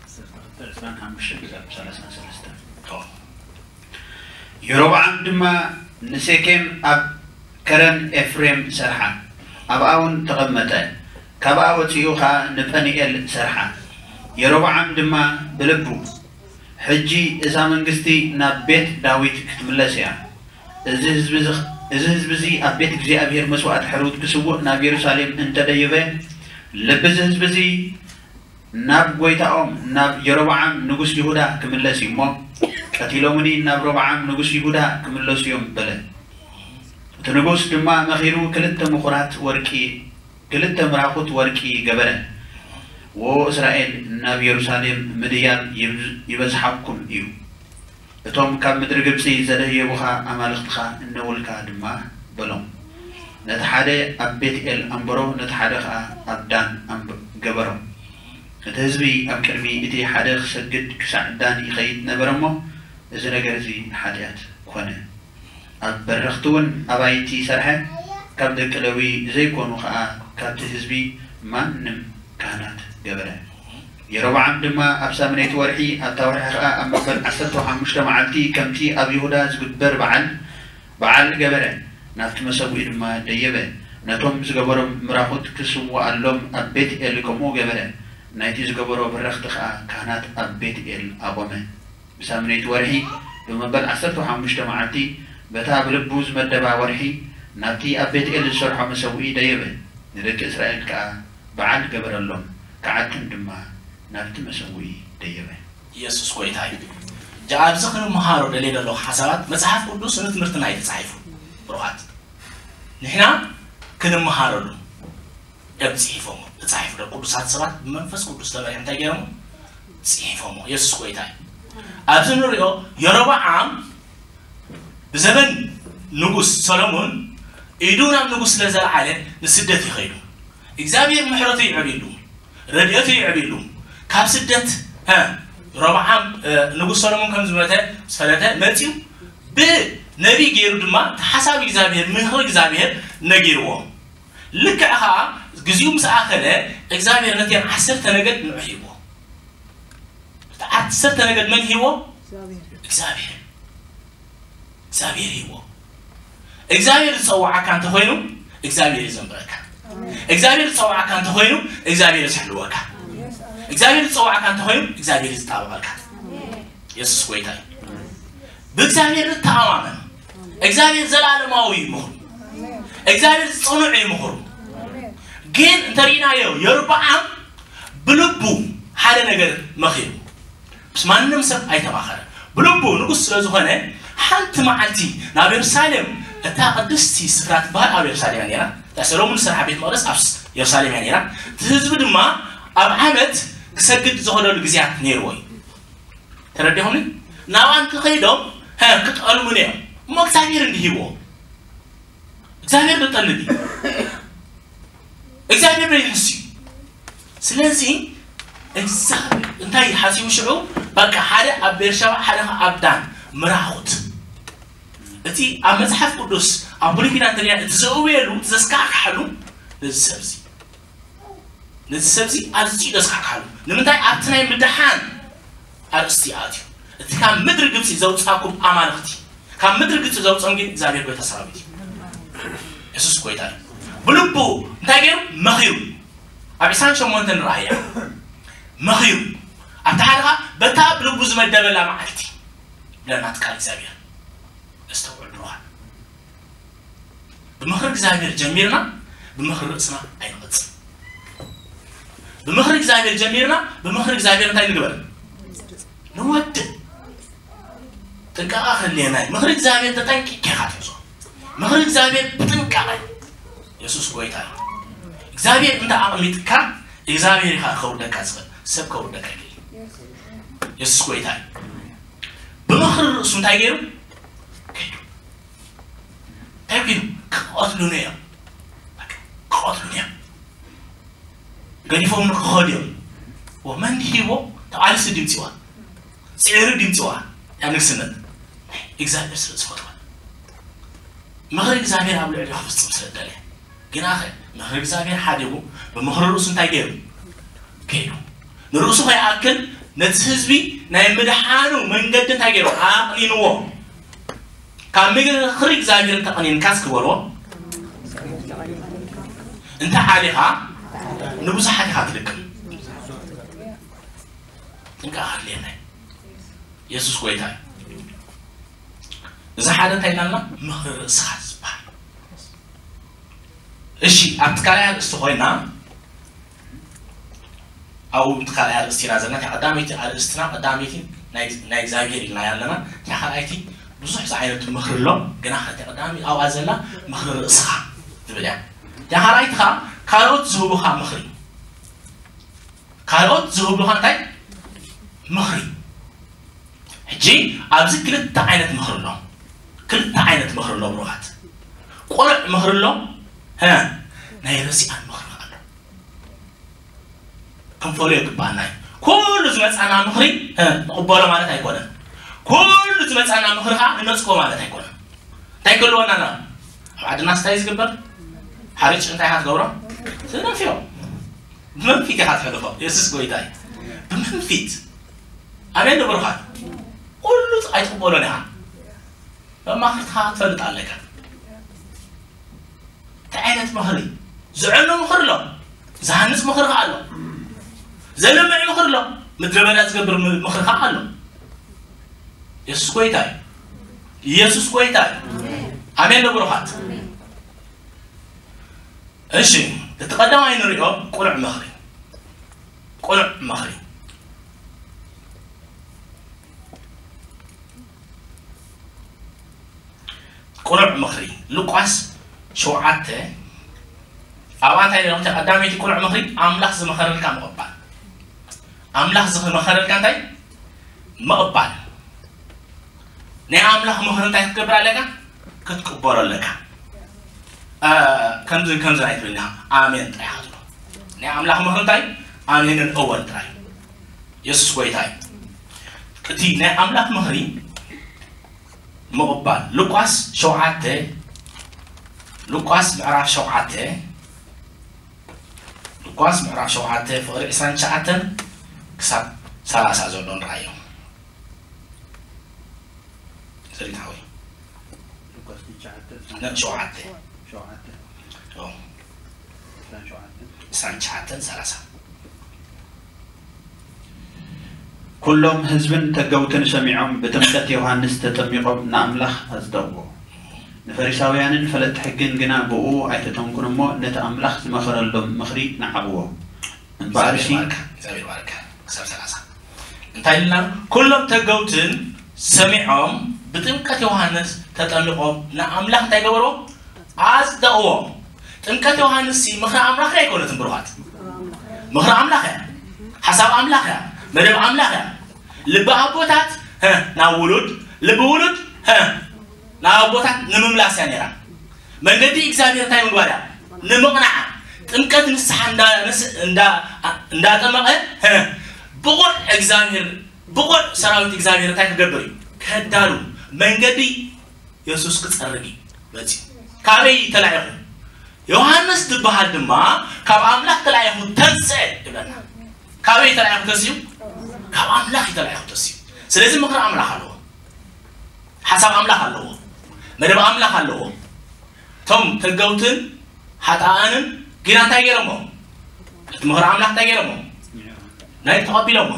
ዓሰርተ ክልተ ዕስራን ሓሙሽተን ክሳብ ሰላሳን ሰለስተን። የሮብዓም ድማ ንሴኬም ኣብ ከረን ኤፍሬም ሰርሓ፣ ኣብኣ እውን ተቐመጠ። ካብኣ ወጺኡ ኸኣ ንጳኒኤል ሰርሓ። የሮብዓም ድማ ብልቡ፣ ሕጂ እዛ መንግስቲ ናብ ቤት ዳዊት ክትምለስ እያ። እዚ ህዝቢ እዚ፣ እዚ ህዝቢ እዚ ኣብ ቤት እግዚኣብሔር መስዋእቲ ሕሩት ክስውእ ናብ የሩሳሌም እንተደየበ፣ ልቢ እዚ ህዝቢ እዚ ናብ ጐይታኦም ናብ የሮብዓም ንጉስ ይሁዳ ክምለስ እዩ እሞ፣ ቀቲሎምኒ ናብ ሮብዓም ንጉስ ይሁዳ ክምለሱ እዮም በለ። እቲ ንጉስ ድማ መኺሩ ክልተ ምኹራት ወርቂ፣ ክልተ ምራኹት ወርቂ ገበረ። ዎ እስራኤል፣ ናብ የሩሳሌም ምድያብ ይብዝ-፣ ይበዝሓኩም እዩ። እቶም ካብ ምድሪ ግብጺ ዘደየቡኻ ኣማልኽትኻ እነውልካ ድማ በሎም። ነቲ ሓደ ኣብ ቤትኤል ኣንበሮ፣ ነቲ ሓደ ኸኣ ኣብ ዳን ኣንብ-፣ ገበሮ። እቲ ህዝቢ ኣብ ቅድሚ እቲ ሓደ ክሰግድ ክሳዕ ዳን ይኸይድ ነበረ እሞ፣ እዚ ነገር እዚ ሓጢኣት ኮነ። ኣብ በረኽቲ እውን ኣባይቲ ሰርሐ፣ ካብ ደቂ ሌዊ ዘይኮኑ ኸኣ ካብቲ ህዝቢ ማንም ካህናት ገበረ። የሮብዓም ድማ ኣብ ሳምነይቲ ወርሒ፣ ኣብታ ወርሒ ኸኣ ኣብ መበል ዓሰርተ ሓሙሽተ መዓልቲ፣ ከምቲ ኣብ ይሁዳ ዝግበር በዓል፣ በዓል ገበረ። ናብቲ መሰውኢ ድማ ደየበ። ነቶም ዝገበሮም ምራኹት ክስውኣሎም ኣብ ቤትኤል ከምኡ ገበረ። ናይቲ ዝገበሮ በረኽቲ ኸኣ ካህናት ኣብ ቤትኤል ኣቖመ። ብሳምነይቲ ወርሒ፣ ብመበል ዓሰርተ ሓሙሽተ መዓልቲ፣ በታ ብልቡ ዝመደባ ወርሒ ናብቲ ኣብ ቤት-ኤል ዝሰርሖ መሰውኢ ደየበ። ንደቂ እስራኤል ከኣ በዓል ገበረሎም፣ ከዓትን ድማ ናብቲ መሰውኢ ደየበ። ኢየሱስ ጐይታ እዩ። ጃ ኣብዚ ክንመሃሮ ደልየ ዘለኹ ሓሳባት መጽሓፍ ቅዱስ ንትምህርትና እዩ ተጻሒፉ። ብሩኻት ንሕና ክንመሃረሉ እዮም ጽሒፎሞ። ተጻሒፉ ዶ ቅዱሳት ሰባት ብመንፈስ ቅዱስ ተመሪሖም እንታይ ገይሮሞ? ጽሒፎሞ። ኢየሱስ ጐይታ እዩ። ኣብዚ ንሪኦ የሮብዓም ብዘበን ንጉስ ሰሎሞን ኢዱ ናብ ንጉስ ስለ ዘልዓለ ንስደት ይኸይዱ። እግዚኣብሔር ምሕረቱ ይዕብየሉ፣ ረድኤቱ ይዕብየሉ። ካብ ስደት እ፣ ሮብዓም እ፣ ንጉስ ሰሎሞን ከም ዝመተ ዝፈለተ መጺኡ ብነቢይ ገይሩ ድማ ተሓሳቢ እግዚኣብሔር ምኽሪ እግዚኣብሔር ነጊርዎ። ልክዕ ኸዓ ግዚኡ ምስ ኣኸለ እግዚኣብሔር ነተን ዓሰርተ ነገድ ንዑ ሂቦ። እቲ ዓሰርተ ነገድ መን ሂቦ? እግዚኣብሔር። እግዚኣብሔር ሂቦ። እግዚኣብሔር ዝጸዋዓካ እንተኾይኑ እግዚኣብሔር እዩ ዘንብረካ። እግዚኣብሔር ዝጸዋዓካ እንተኾይኑ እግዚኣብሔር እዩ ዝሕልወካ። እግዚኣብሔር ዝጸዋዓካ እንተኾይኑ እግዚኣብሔር እዩ ዝጣበቐልካ። ኢየሱስ ጐይታ እዩ። ብእግዚኣብሔር ንተኣማመን። እግዚኣብሔር ዘላለማዊ እዩ ምኽሩ። እግዚኣብሔር ጽኑዕ እዩ ምኽሩ። ግን እንተሪእናዮ የርብዓም ብልቡ ሓደ ነገር መኺሩ ምስ ማንም ሰብ ኣይተማኸረ። ብልቡ ንጉስ ስለ ዝኾነ ሓንቲ መዓልቲ ናብ የሩሳሌም እታ ቅድስቲ ስፍራ ትበሃል ኣብ የሩሳሌም እያ ነይራ። እታ ሰሎሙን ዝሰርሓ ቤት መቕደስ ኣብ የሩሳሌም እያ ነይራ። እቲ ህዝቢ ድማ ኣብ ዓመት ክሰግድ ዝኸደሉ ግዜያት ነይርዎ እዩ። ተረዲኹምኒ? ናብኣ እንተኸይዶም ሀ ክጠልሙን እዮም። እሞ እግዚኣብሔር እንዲህ ይብዎ እግዚኣብሔር ዝጠልም እዩ። እግዚኣብሔር ዶ ይሕስ እዩ? ስለዚ እግዚኣብሔር እንታይ ሓሲቡ ሽዑ በቃ ሓደ ኣብ ቤርሸባ ሓደ ኣብ ዳን ምራኹት። እቲ ኣብ መጽሓፍ ቅዱስ ኣብ ብሉይ ኪዳን ተሪያ እቲ ዘእውየሉ እቲ ዘስካሕክሓሉ ነዚ ሰብዚ ነዚ ሰብዚ ኣዝዩ ደስካሕካሉ ንምንታይ ኣብቲ ናይ ምድሓን ኣርእስቲ ኣትዩ እቲ ካብ ምድሪ ግብፂ ዘውፃኩም ኣማልኽቲ ካብ ምድሪ ግብፂ ዘውፅኦም ግን እግዚኣብሔር ጎይታ ሰራዊት እዩ። የሱስ ጎይታ እዩ። ብልቡ እንታይ ገይሩ መኺሩ ኣብ ዕስራን ሸሞንተን ንረኣያ መኺሩ ኣብቲ ሓደኻ በታ ብልቡ ዝመደበላ መዓልቲ ብለናት ቃል እግዚኣብሔር ነስተውዕል ብሩኻን ብምኽሪ እግዚኣብሔር ጀሚርና ብምኽሪ ርእስና ኣይንቐጽል ብምኽሪ እግዚኣብሔር ጀሚርና ብምኽሪ እግዚኣብሔር እንታይ ንግበር ንወድእ ጥንቃቓ ክህልየና እዩ ምኽሪ እግዚኣብሔር ተጠንቂቕ ኢኻ ትሕዞ ምኽሪ እግዚኣብሔር ብጥንቃቐ የሱስ ጎይታ እዩ እግዚኣብሔር እንተ ኣቕሚጥካ እግዚኣብሔር ኢኻ ከውርደካ ዝኽእል ሰብ ከውርደካ ይኽእል የሱስ ጎይታ እዩ ብምኽሪ ርእሱ እንታይ ገይሩ ከይዱ እንታይ ግን ክቐትሉኒ እዮም ክቐትሉኒ እዮም ገዲፎም ንክኸዱ እዮም ወመን ሂቦ ተቓልሲ ድምፂዋ ፅዕሪ ድምፂዋ ያ ንግስነት እግዚኣብሔር ስለ ዝፈትዋ ምኽሪ እግዚኣብሔር ኣብ ልዕሊ ክፍፅም ስለ ደለ ግናኸ ምኽሪ እግዚኣብሔር ሓዲጉ ብምኽሪ ርእሱ እንታይ ገይሩ ከይዱ ንርእሱ ከይኣክል ነቲ ህዝቢ ናይ ምድሓኑ መንገዲ እንታይ ገይሩ ኣቕኒንዎ ካብ ምኽሪ እግዚኣብሔር እንተቐኒንካስ ክበልዎ እንተ ዓሊኻ ንብዙሓት ኢኻ ትልክም ጥንቃ ክህልየና የሱስ ጎይታ እዚ ሓደ እንታይ ኢልና ምኽሪ ርእስኻ ዝበሃል እሺ ኣብቲ ካልኣይ ኣርእስቲ ኮይና ኣብኡ እቲ ካልኣይ ኣርእስቲ ኢና ዘለና እታ ቀዳመይቲ ኣርእስትና ቀዳመይቲ ናይ እግዚኣብሔር ኢልና ኣለና እታ ካልኣይቲ ብዙሕ ዝዓይነቱ ምኽሪ ኣሎ ግና ከቲ ቀዳሚ ኣብኣ ዘላ ምኽሪ ርእስኻ ትብል እያ እታ ካልኣይቲ ኸዓ ካልኦት ዝህቡኻ ምኽሪ ካልኦት ዝህቡኻ እንታይ ምኽሪ ሕጂ ኣብዚ ክልተ ዓይነት ምኽሪ ኣሎ ክልተ ዓይነት ምኽሪ ኣሎ ብሩኻት ቁኑዕ ምኽሪ ኣሎ ናይ ርሲኣን ምኽሪ ኣሎ ክንፈልዮ ይግባኣና እዩ ኩሉ ዝመፃና ምኽሪ ንቕበሎ ማለት ኣይኮነን ኩሉ ዝመፃና ምኽሪ ከዓ ንነፅጎ ማለት ኣይኮነን እንታይ ክህልወና ና ኣብ ዓድና ስታይ ዝግበር ሓርጭ እንታይ ኢኻ ትገብሮ ትነፍዮ ብመንፊት ኢኻ ትሕልፎ የሱስ ጎይታ እዩ ብመንፊት ኣሜን ንብሩኻት ኩሉ ኣይትቕበሎን ኢኻ መማኽርትኻ ትፈልጥ ኣለካ እንታይ ዓይነት ምኽሪ ዘዕኑ ምኽሪ ኣሎ ዝሃንፅ ምኽሪ ከዓ ኣሎ ዘልምዕ ምኽሪ ኣሎ ምድረ በዳ ዝገብር ምኽሪ ከዓ ኣሎ የሱስ ጎይታ እዩ የሱስ ጎይታ እዩ ኣሜን ዶ ብሩኻት? እሺ፣ እቲ ቀዳማይ ንሪኦ ቁኑዕ ምኽሪ። ቁኑዕ ምኽሪ። ቁኑዕ ምኽሪ። ሉቃስ ሸውዓተ፣ ኣብኣ እንታይ ኢሉ? ቀዳመይቲ ቁኑዕ ምኽሪ፣ ኣምላኽ ዝመኸረልካ ምቕባል። ኣምላኽ ዝመኸረልካ እንታይ? ምቕባል። ናይ ኣምላኽ ምኽሪ እንታይ ክትገብር ኣለካ? ክትቅበሎ ኣለካ። እ፣ ከምዚ ከምዚ ኣይትብል ኢኻ። ኣሜን ጥራይ ኢኻ ትብሎ። ናይ ኣምላኽ ምኽሪ እንታይ? ኣሜንን እወን ጥራይ። የሱስ ጎይታ እዩ። እቲ ናይ ኣምላኽ ምኽሪ ምቕባል። ሉቃስ ሸውዓተ፣ ሉቃስ ምዕራፍ ሸውዓተ፣ ሉቃስ ምዕራፍ ሸውዓተ ፍቕሪ ዕስራን ትሽዓተን ክሳብ ሰላሳ ዘሎ ንርኣዮ። ሰሪት ሓወይ። ሉቃስ ትሽዓተ፣ ነ-፣ ሸውዓተ። ሸውዓተ። ኦ። ዕስራን ሸውዓተን። ዕስራን ትሽዓተን ሰላሳ። ኩሎም ህዝብን ተገውትን ሰሚዖም ብጥምቀት ዮሃንስ ተጠሚቖም ንኣምላኽ ኣጽደቕዎ። ንፈሪሳውያንን ፈለጥቲ ሕግን ግና ብእኡ ኣይተተንኩን እሞ ነቲ ኣምላኽ ዝመኸረሎም ምኽሪ ነዓቕዎ። እምበኣርሲ እግዚኣብሔር ባርካ፣ እግዚኣብሔር ባርካ። ክሳብ ሰላሳ እንታይ ኢልና? ኩሎም ተገውትን ሰሚዖም ብጥምቀት ዮሃንስ ተጠሚቖም ንኣምላኽ እንታይ ገበርዎ? ኣጽደቕዎ። ጥምቀት ዮሃንስ ሲ ምኽሪ ኣምላኽ ኣይኮነትን ብሩኻት። ምኽሪ ኣምላኽ እያ። ሓሳብ ኣምላኽ እያ። መደብ ኣምላኽ እያ። ልቢ ኣቦታት፣ ሀ፣ ናብ ውሉድ፣ ልቢ ውሉድ፣ ሀ፣ ናብ ኣቦታት ንምምላስ እያ ነይራ። መንገዲ እግዚኣብሔር እንታይ ምግባር እያ? ንምቕናዓ። ጥምቀት ንስሓ እንዳ-፣ ንስ-፣ እንዳ-፣ እንዳጠመቐ፣ ሀ፣ ብቑዕ እግዚኣብሔር፣ ብቑዕ ሰራዊት እግዚኣብሔር እንታይ ክገብር እዩ? ከዳሉ። መንገዲ የሱስ ክጸርግ እዩ መጺኡ። ካበይ ተላኢኹ? ዮሃንስ ዝበሃል ድማ ካብ ኣምላኽ ተላኢኹ ተንስአ ይብለና። ካበይ ተላኢኹ ተንሲኡ? ካብ ኣምላኽ እዩ ተላኢኹ ተንሲኡ። ስለዚ ምኽሪ ኣምላኽ ኣለዎ። ሓሳብ ኣምላኽ ኣለዎ። መደብ ኣምላኽ ኣለዎ። እቶም ተገውትን ሓጣኣንን ግና እንታይ ገይሮሞ? እቲ ምኽሪ ኣምላኽ እንታይ ገይሮሞ? ናይ ተቐቢሎሞ።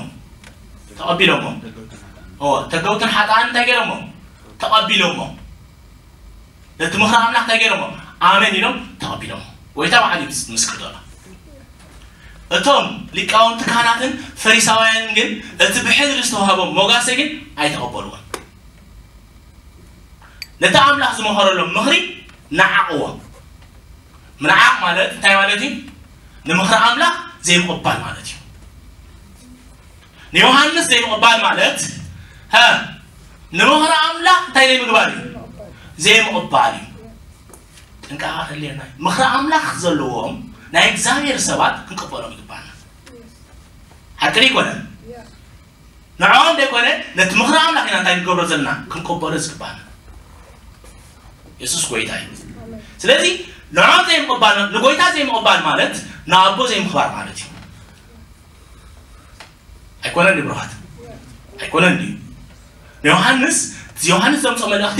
ተቐቢሎሞ። ኦ፣ ተገውትን ሓጣኣንን እንታይ ገይሮሞ? ተቐቢሎሞ። ነቲ ምኽሪ ኣምላኽ እንታይ ገይሮሞ? ኣሜን ኢሎም ተቐቢሎሞ። ጎይታ ባዕሉ እዩ ምስክር ዘሎ። እቶም ሊቃውንቲ ካህናትን ፈሪሳውያንን ግን እቲ ብሕድሪ ዝተዋህቦም ሞጋሰ ግን ኣይተቐበልዎን። ነቲ ኣምላኽ ዝመኸረሎም ምኽሪ ነዓቕዎ። ምንዓቕ ማለት እንታይ ማለት እዩ? ንምኽሪ ኣምላኽ ዘይምቕባል ማለት እዩ። ንዮሃንስ ዘይምቕባል ማለት፣ ሀ፣ ንምኽሪ ኣምላኽ እንታይ ዘይምግባር እዩ? ዘይምቕባል እዩ። ጥንቃቐ ክህልየና እዩ። ምኽሪ ኣምላኽ ዘለዎም ናይ እግዚኣብሔር ሰባት ክንቅበሎም ይግባና። ሓቂ ዶ ኣይኮነን? ንዕኦም ዘይኮነ ነቲ ምኽሪ ኣምላኽ ኢና እንታይ ንገብሮ ዘለና? ክንቅበሎ ዝግባና። የሱስ ጎይታ እዩ። ስለዚ ንዕኦም ዘይምቕባል፣ ንጎይታ ዘይምቕባል ማለት ንኣቦ ዘይምኽባር ማለት እዩ። ኣይኮነን ድዩ ብሩኻት? ኣይኮነን ድዩ? ንዮሃንስ፣ ዮሃንስ ዘምፅኦ መልእኽቲ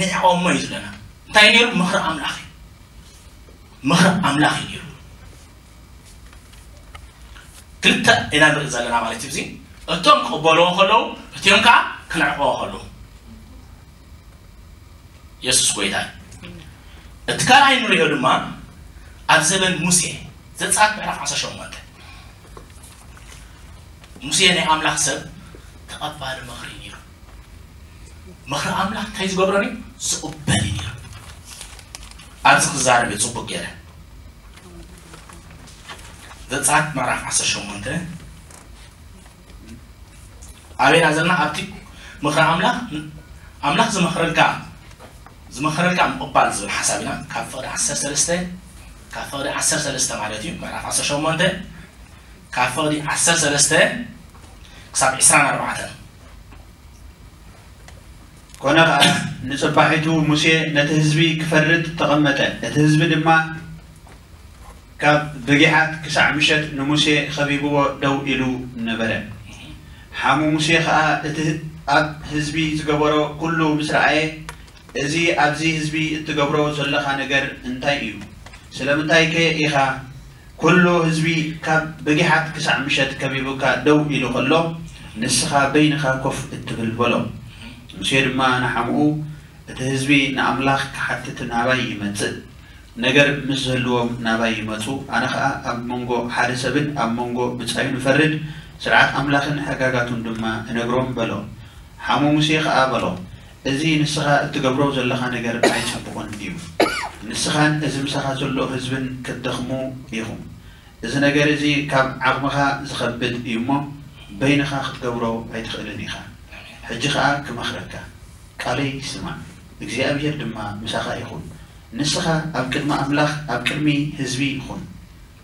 ንዕኦሞ እዩ ዝብለና። እንታይ ነይሩ? ምኽሪ ኣምላኽ እዩ። ምኽሪ ኣምላኽ እዩ ነይሩ። ክልተ ኢና ንርኢ ዘለና ማለት እዩ። እዚ እቶም ክቕበልዎ ከለዉ፣ እቲኦም ከዓ ክነዕቕዎ ከለዉ። የሱስ ጎይታ እዩ። እቲ ካልኣይ ንሪኦ ድማ ኣብ ዘበን ሙሴ፣ ዘጸኣት ምዕራፍ ዓሰርተ ሸሞንተ። ሙሴ ናይ ኣምላኽ ሰብ ተቐባሊ ምኽሪ ነይሩ። ምኽሪ ኣምላኽ እንታይ ዝገብሮ ነይሩ? ዝቕበል እዩ ነይሩ። ኣብዚ ክዛረብ እዩ ጽቡቕ ገይረ። ዘጸኣት ምዕራፍ ዓሰርተ ሸሞንተ። ኣበይና ዘለና? ኣብቲ ምኽሪ ኣምላኽ፣ ኣምላኽ ዝመኽረልካ፣ ዝመኽረልካ ምቕባል ዝብል ሓሳብ ኢና። ካብ ፍቕዲ ዓሰርተ ሰለስተ፣ ካብ ፍቕዲ ዓሰርተ ሰለስተ ማለት እዩ፣ ምዕራፍ ዓሰርተ ሸሞንተ፣ ካብ ፍቕዲ ዓሰርተ ሰለስተ ክሳብ ዕስራን ኣርባዕተን። ኮነ ኸኣ፣ ንጽባሒቱ ሙሴ ነቲ ህዝቢ ክፈርድ ተቐመጠ። እቲ ህዝቢ ድማ ካብ ብጊሓት ክሳዕ ምሸት ንሙሴ ኸቢብዎ ደው ኢሉ ነበረ። ሓሙ ሙሴ ኸኣ እቲ ኣብ ህዝቢ ዝገበሮ ኩሉ ምስ ረኣየ፣ "እዚ ኣብዚ ህዝቢ እትገብሮ ዘለኻ ነገር እንታይ እዩ? ስለምንታይከ ኢኻ ኩሉ ህዝቢ ካብ ብጊሓት ክሳዕ ምሸት ከቢቡካ ደው ኢሉ ኸሎ፣ ንስኻ በይንኻ ኮፍ እትብል?" በሎ። ሙሴ ድማ ንሓሙኡ፣ እቲ ህዝቢ ንኣምላኽ ክሓትት ናባይ ይመጽእ፣ ነገር ምስ ዝህልዎም ናባይ ይመጹ፣ ኣነ ኸኣ ኣብ መንጎ ሓደ ሰብን ኣብ መንጎ ብጻዩን እፈርድ፣ ስርዓት ኣምላኽን ሕጋጋቱን ድማ እነግሮም በሎ። ሓሙ ሙሴ ኸኣ በሎ፣ እዚ ንስኻ እትገብሮ ዘለኻ ነገር ኣይጽቡቕን እዩ። ንስኻን እዚ ምሳኻ ዘሎ ህዝብን ክትደኽሙ ኢኹም። እዚ ነገር እዚ ካብ ዓቕምኻ ዝኸብድ እዩ እሞ፣ በይንኻ ክትገብሮ ኣይትኽእልን ኢኻ። ሕጂ ኸኣ ክመኽረካ፣ ቃለይ ስማዕ፣ እግዚኣብሄር ድማ ምሳኻ ይኹን። ንስኻ ኣብ ቅድሚ ኣምላኽ፣ ኣብ ቅድሚ ህዝቢ ኩን።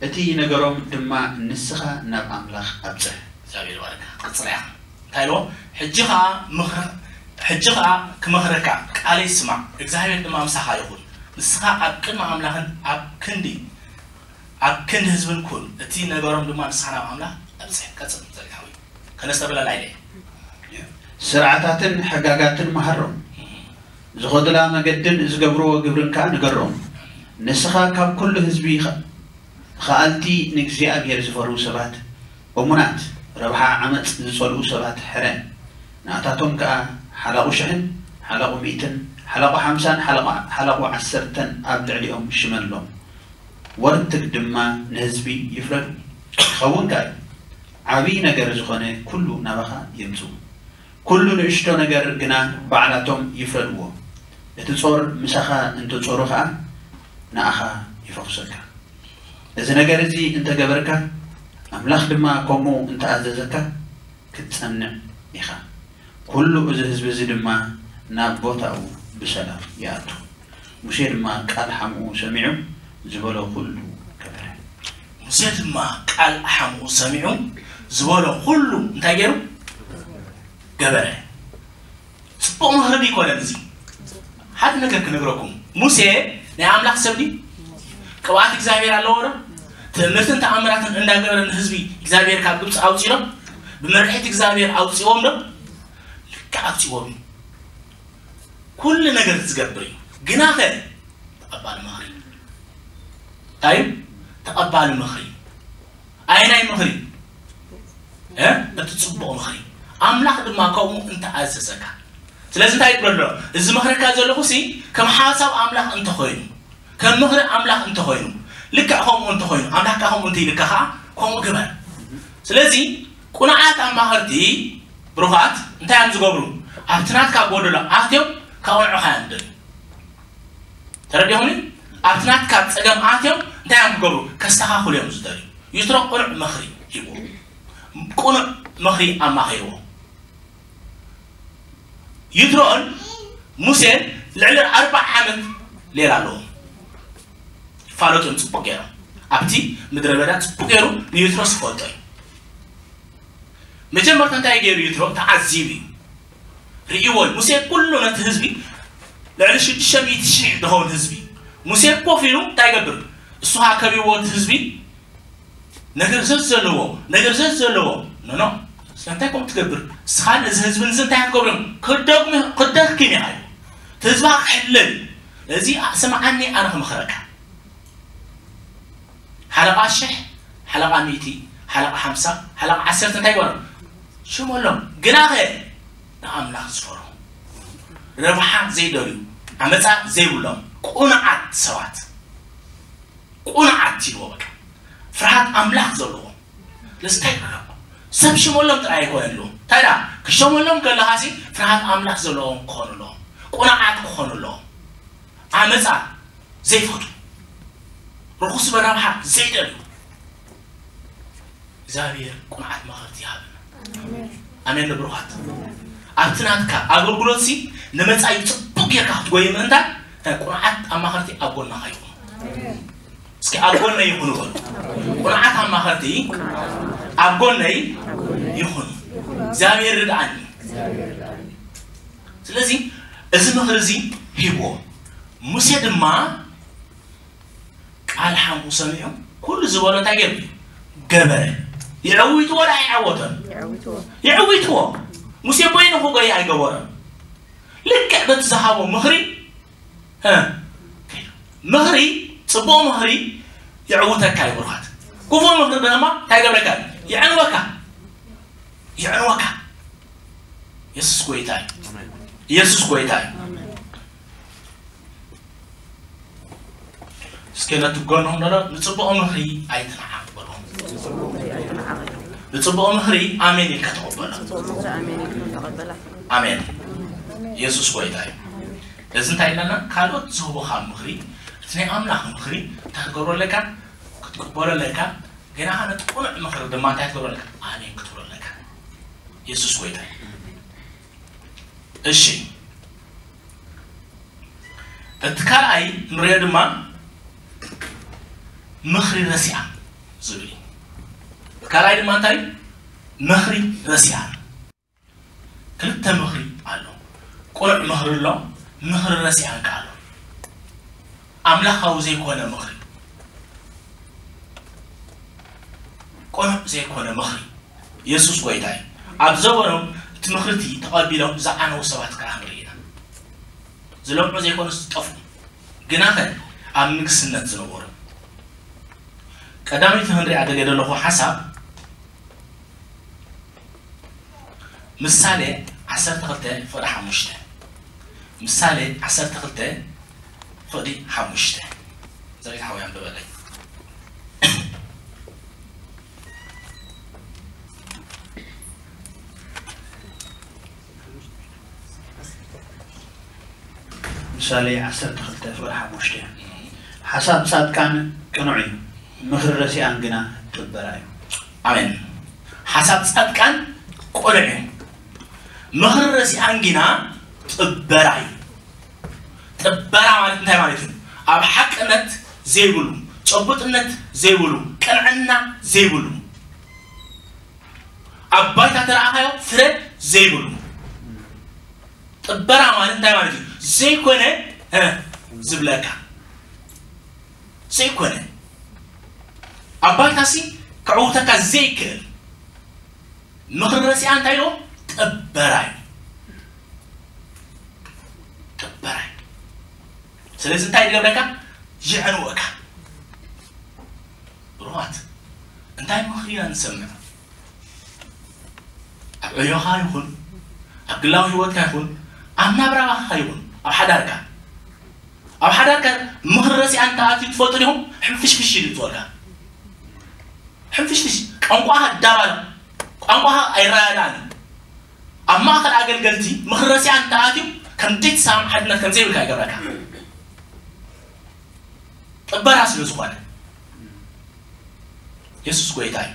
እቲ ነገሮም ድማ ንስኻ ናብ ኣምላኽ ኣብጽሕ። እግዚኣብሔር ይባርካ። ትቅጽል እያ። እንታይ ኢልዎ? ሕጂ ኸኣ ምኽረ-፣ ሕጂ ኸኣ ክመኽረካ ቃለይ ስማዕ፣ እግዚኣብሔር ድማ ምሳኻ ይኹን። ንስኻ ኣብ ቅድሚ ኣምላኽን ኣብ ክንዲ፣ ኣብ ክንዲ ህዝብን ኩን። እቲ ነገሮም ድማ ንስኻ ናብ ኣምላኽ ኣብጽሕ። ቀጽል፣ ዘሪግ ሓወይ። ከነስተብለላ ኢለ። ስርዓታትን ሕጋጋትን መሃሮም። ዝኸዱላ መገድን ዝገብርዎ ግብርን ከኣ ንገሮም። ንስኻ ካብ ኩሉ ህዝቢ ኸ-፣ ኸኣልቲ ንእግዚኣብሔር ዝፈርሁ ሰባት፣ እሙናት፣ ረብሓ ዓመጽ ዝጸልኡ ሰባት ሕረ። ንኣታቶም ከኣ ሓላቑ ሽሕን ሓላቑ ሚእትን ሓላቑ ሓምሳን ሓላቑ፣ ሓላቑ ዓሰርተን ኣብ ልዕሊኦም ሽመሎም። ወርትግ ድማ ንህዝቢ ይፍረዱ። ይኸውን ከኣ እዩ። ዓብዪ ነገር ዝኾነ ኩሉ ናባኻ የምጽኡ። ኩሉ ንእሽቶ ነገር ግና ባዕላቶም ይፍረድዎ። እቲ ጾር ምሳኻ እንተጾሩ ኸኣ ንኣኻ ይፈኹሰካ። እዚ ነገር እዚ እንተገበርካ፣ ኣምላኽ ድማ ከምኡ እንተኣዘዘካ፣ ክትጸንዕ ኢኻ። ኩሉ እዚ ህዝቢ እዚ ድማ ናብ ቦታኡ ብሰላም ይኣቱ። ሙሴ ድማ ቃል ሓምኡ ሰሚዑ ዝበሎ ኩሉ ገበረ። ሙሴ ድማ ቃል ሓምኡ ሰሚዑ ዝበሎ ኩሉ እንታይ ገይሩ? ገበረ። ጽቡቕ ምኽሪ ድዩ ኣይኮነን እዚ? ሓደ ነገር ክነግረኩም። ሙሴ ናይ ኣምላኽ ሰብ ድዩ? ቅብኣት እግዚኣብሔር ኣለዎ ዶ? ትእምርትን ተኣምራትን እንዳገበረ ንህዝቢ እግዚኣብሔር ካብ ግብፂ ኣውፂኦ ዶ? ብመርሒት እግዚኣብሔር ኣውፂዎም ዶ? ልክዕ ኣውፂዎም እዩ። ኩሉ ነገር ዝገብር እዩ። ግናኸ ተቐባሊ ምኽሪ። እንታይ እዩ? ተቐባሊ ምኽሪ። ኣየናይ ምኽሪ? እ? እቲ ጽቡቕ ምኽሪ። ኣምላኽ ድማ ከምኡ እንተኣዘዘካ። ስለዚ እንታይ ይብሎ ኣሎ? እዚ ዝመኽረካ ዘለኹ ሲ ከም ሓሳብ ኣምላኽ እንተኾይኑ፣ ከም ምኽሪ ኣምላኽ እንተኾይኑ፣ ልክዕ ከምኡ እንተኾይኑ፣ ኣምላኽ ከኣ ከምኡ እንተኢልካ ከኣ ከምኡ ግበር። ስለዚ ቁኑዓት ኣማኸርቲ ብሩኻት እንታይ እዮም ዝገብሩ? ኣብቲ ናትካ ጎደሎ ኣትዮም ከቕንዑኻ እዮም ዝደልዩ። ተረዲኹምኒ? ኣብቲ ናትካ ጸገም ኣትዮም እንታይ እዮም ክገብሩ? ከስተኻኽሉ እዮም ዝደልዩ። ይትሮ ቅኑዕ ምኽሪ ሂብዎ። ቅኑዕ ምኽሪ ኣማኺርዎ። ይትሮን ሙሴን ልዕሊ ኣርብዓ ዓመት ሌላ ኣለዎም። ይፋለጡ እዮም ጽቡቕ ገይሮም። ኣብቲ ምድረ በዳ ጽቡቕ ገይሩ ንይትሮስ ይፈልጦ እዩ። መጀመርታ እንታይ ገይሩ ይትሮ? ተዓዚቡ እዩ። ርእይዎ እዩ። ሙሴ ኩሉ ነቲ ህዝቢ ልዕሊ ሽዱሽተ ሚእቲ ሺሕ ዝኸውን ህዝቢ ሙሴ ኮፍ ኢሉ እንታይ ይገብር? እሱ ኸኣ ከቢብዎ እቲ ህዝቢ ነገር ዘዘለዎ፣ ነገር ዘዘለዎ። ኖ፣ ኖ። ስለምንታይ ከምኡ ትገብር? እስኻ ነዚ ህዝቢ እዚ እንታይ ክትገብሮም? ክደግሙ-፣ ክደክም ኢኻ እዩ። እቲ ህዝብኻ ክሕለል እዩ። እዚ ስምዓኒ ኣነ ክመኽረካ። ሓለቓ ሽሕ፣ ሓለቓ ሚእቲ፣ ሓለቓ ሓምሳ፣ ሓለቓ ዓሰርተ እንታይ ይበሎም? ሽመሎም። ግናኸ ንኣምላኽ ዝፈርሁ፣ ረብሓ ዘይደልዩ፣ ዓመጻ ዘይብሎም፣ ቅኑዓት ሰባት። ቅኑዓት ኢልዎ በቃ። ፍርሃት ኣምላኽ ዘለዎም። ስለዚ እንታይ ይብሎም? ሰብ ሽመሎም ጥራይ ኣይኮነን ኣለዎም። እንታይ ደኣ? ክሸመሎም ከለኻሲ ፍርሃት ኣምላኽ ዘለዎም ክኾኑ ኣለዎም። ቅኑዓት ክኾኑ ኣለዎም። ዓመጻ ዘይፈቱ፣ ርኹስ መራብሓ ዘይደልዩ። እግዚኣብሔር ቅኑዓት መኸርቲ ይሃበና። ኣሜን። ኣሜን ንብሩኻት። ኣብቲ ናትካ ኣገልግሎትሲ ንመጻኢ ጽቡቕ ጌርካ ክትጎይ ምእንታን፣ እንታይ ቅኑዓት ኣማኸርቲ ኣብ ጎንኻ ይኹኑ። እስኪ ኣብ ጎነይ ይኹኑ በሉ። ቅኑዓት ኣማኸርቲ ኣብ ጎነይ ይኹኑ። እግዚኣብሔር ርድኣኒ። ስለዚ እዚ ምኽሪ እዚ ሂብዎ። ሙሴ ድማ ቃል ሓምኡ ሰሚዑ ኩሉ ዝበሎ እንታይ ገይሩ? ገበረ። የዕዊትዎ ደኣ ኣይዓወቶን? የዕዊትዎ። የዕዊትዎ። ሙሴ በይኑ ክጎይ ኣይገበሮን። ልክዕ በቲ ዝሃቦ ምኽሪ፣ እ፣ ምኽሪ፣ ጽቡቕ ምኽሪ የዕውተካ እዩ ብሩኻት። ክፉእ ምኽሪ ድማ እንታይ ገብረካ? የዕንወካ። የዕንወካ። የሱስ ጎይታ እዩ። ኣሜን። የሱስ ጎይታ እዩ። ኣሜን። እስኪ ነቲ ጎንኹም ዘሎ ንጽቡቕ ምኽሪ ኣይትንዓቕ በልዎ። ንጽቡቕ ምኽሪ ኣሜን ኢልካ ተቐበሎ። ጽቡቕ ምኽሪ ኣሜን ኢልኩም ተቐበላ። ኣሜን። ኢየሱስ ጎይታ እዩ። እዚ እንታይ ኢለና? ካልኦት ዝህቡኻ ምኽሪ፣ እቲ ናይ ኣምላኽ ምኽሪ እንታይ ክትገብሮ ኣለካ? ክትቅበሎ ኣለካ። ግና ነቲ ቅኑዕ ምኽሪ ድማ እንታይ ክትገብሮ ኣለካ? ኣሜን ክትብሎ ኣለካ። ኢየሱስ ጎይታ እዩ። እሺ፣ እቲ ካልኣይ ንሪኦ ድማ ምኽሪ ረሲኣ ዝብል እዩ። እቲ ካልኣይ ድማ እንታይ? ምኽሪ ረሲኣ። ክልተ ምኽሪ ኣሎ። ቅኑዕ ምኽሪ ኣሎ፣ ምኽሪ ረሲኣን ከኣ ኣሎ። ኣምላኻዊ ዘይኮነ ምኽሪ፣ ቅኑዕ ዘይኮነ ምኽሪ። የሱስ ጎይታ እዩ። ኣብ ዘበኖም እቲ ምኽሪ እቲ ተቐቢሎም ዝዓነዉ ሰባት ከኣ ንርኢ ኢና። ዝለምዑ ዘይኮኑስ ዝጠፍኡ፣ ግናኸ ኣብ ንግስነት ዝነበሩ። ቀዳመይቲ ክንሪኣ ደልየ ዘለኹ ሓሳብ ምሳሌ ዓሰርተ ክልተ ፍቕዲ ሓሙሽተ። ምሳሌ ዓሰርተ ክልተ ፍቕዲ ሓሙሽተ። ዘሪት ሓወይ ኣንብበለይ። ምሳሌ ዓሰርተ ክልተ ፍቕዲ ሓሙሽተ። ሓሳብ ጻድቃን ቅኑዕ እዩ፣ ምኽሪ ረሲኣን ግና ጥበራ እዩ። ኣሜን። ሓሳብ ጻድቃን ቅኑዕ እዩ፣ ምኽሪ ረሲኣን ግና ጥበራ እዩ። ጥበራ ማለት እንታይ ማለት እዩ? ኣብ ሓቅነት ዘይብሉ፣ ጨቡጥነት ዘይብሉ፣ ቅንዕና ዘይብሉ፣ ኣብ ባይታ ተረኣኻዮ ፍረ ዘይብሉ። ጥበራ ማለት እንታይ ማለት እዩ? ዘይኮነ እ ዝብለካ፣ ዘይኮነ ኣብ ባይታሲ ከዕውተካ ዘይክእል። ምኽሪ ረሲኣ እንታይ ኢልዎ? ጥበራ እዩ። ጥበራ እዩ። ስለዚ እንታይ ዝገብረካ? የዕንወካ። ብሩኻት፣ እንታይ ምኽሪ ኢና ንሰምዕ? ኣብ ዕዮኻ ይኹን፣ ኣብ ግላዊ ህይወትካ ይኹን፣ ኣብ ናብራኻ ይኹን፣ ኣብ ሓዳርካ፣ ኣብ ሓዳርካ ምኽሪ ረሲኣ እንተኣትዩ ትፈልጡ ዲኹም? ሕንፍሽፍሽ ኢሉ ይትወልካ። ሕንፍሽፍሽ፣ ቋንቋኻ ይዳባል፣ ቋንቋኻ ኣይረዳዳእን። ኣብ ማእከል ኣገልገልቲ ምኽሪ ረሲኣ እንተኣትዩ ከም ዘይትሰማማዕ ሓድነት ከም ዘይብልካ ይገብረካ። ጥበራ ስለ ዝኾነ። የሱስ ጎይታ እዩ።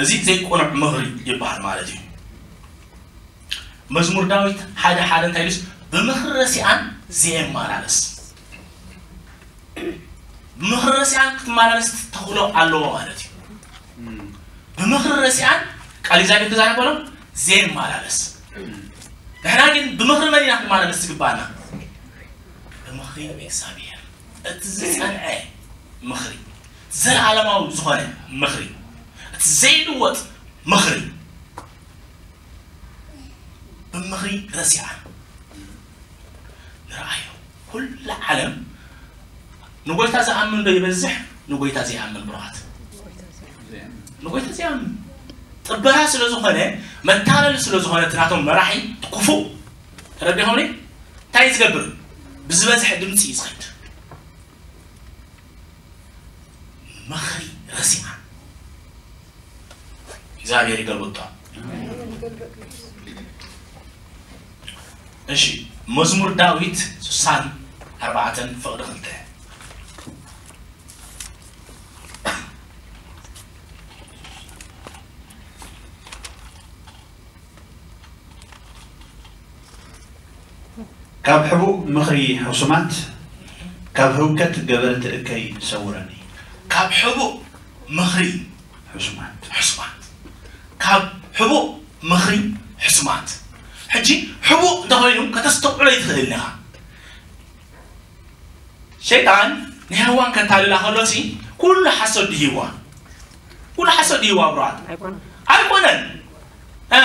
እዚ ዘይቅኑዕ ምኽሪ ይበሃል ማለት እዩ። መዝሙር ዳዊት ሓደ ሓደ እንታይ ኢሉስ? ብምኽሪ ረሲኣን ዘየመላለስ። ብምኽሪ ረሲኣን ክትመላለስ ተኽእሎ ኣለዎ ማለት እዩ። ብምኽሪ ረሲኣን ቃል እግዚኣብሔር ክዛረብ ከሎ ዘየመላለስ። ንሕና ግን ብምኽሪ መን ኢና ክንመላለስ ዝግባኣና? ብምኽሪ እግዚኣብሔር። እቲ ዝጸንዐ ምኽሪ፣ ዘለዓለማዊ ዝኾነ ምኽሪ፣ እቲ ዘይልወጥ ምኽሪ። ብምኽሪ ረሲኣን ንርኣዮ። ኩላ ዓለም ንጎይታ ዝኣምን ዶ ይበዝሕ ንጎይታ ዘይኣምን? ብሩኻት፣ ንጎይታ ዘይኣምን። ጥበራ ስለ ዝኾነ፣ መታለሊ ስለ ዝኾነ እቲ ናቶም መራሒ ክፉእ፣ ተረዲኹምኒ? እንታይ እዩ ዝገብር? ብዝበዝሐ ድምፂ እዩ ዝኸይድ። ምኽሪ ረሲኣ። እግዚኣብሔር ይገልብጦ። እሺ፣ መዝሙር ዳዊት ስሳን ኣርባዕተን ፍቕዲ ክልተ። ካብ ሕቡእ ምኽሪ ሕሱማት፣ ካብ ህውከት ገበርቲ እከይ ሰውረኒ። ካብ ሕቡእ ምኽሪ ሕሱማት። ሕሱማት፣ ካብ ሕቡእ ምኽሪ ሕሱማት። ሕጂ ሕቡእ እንተኾይኑ ከተስተውዕሎ ይትኽእል ኢኻ። ሸይጣን ንሄዋን ከታልላ ከሎሲ ኩሉ ሓሶት ድሂዋ፣ ኩሉ ሓሶት ድሂዋ ብራት ኣይኮነ ኣይኮነን። እ፣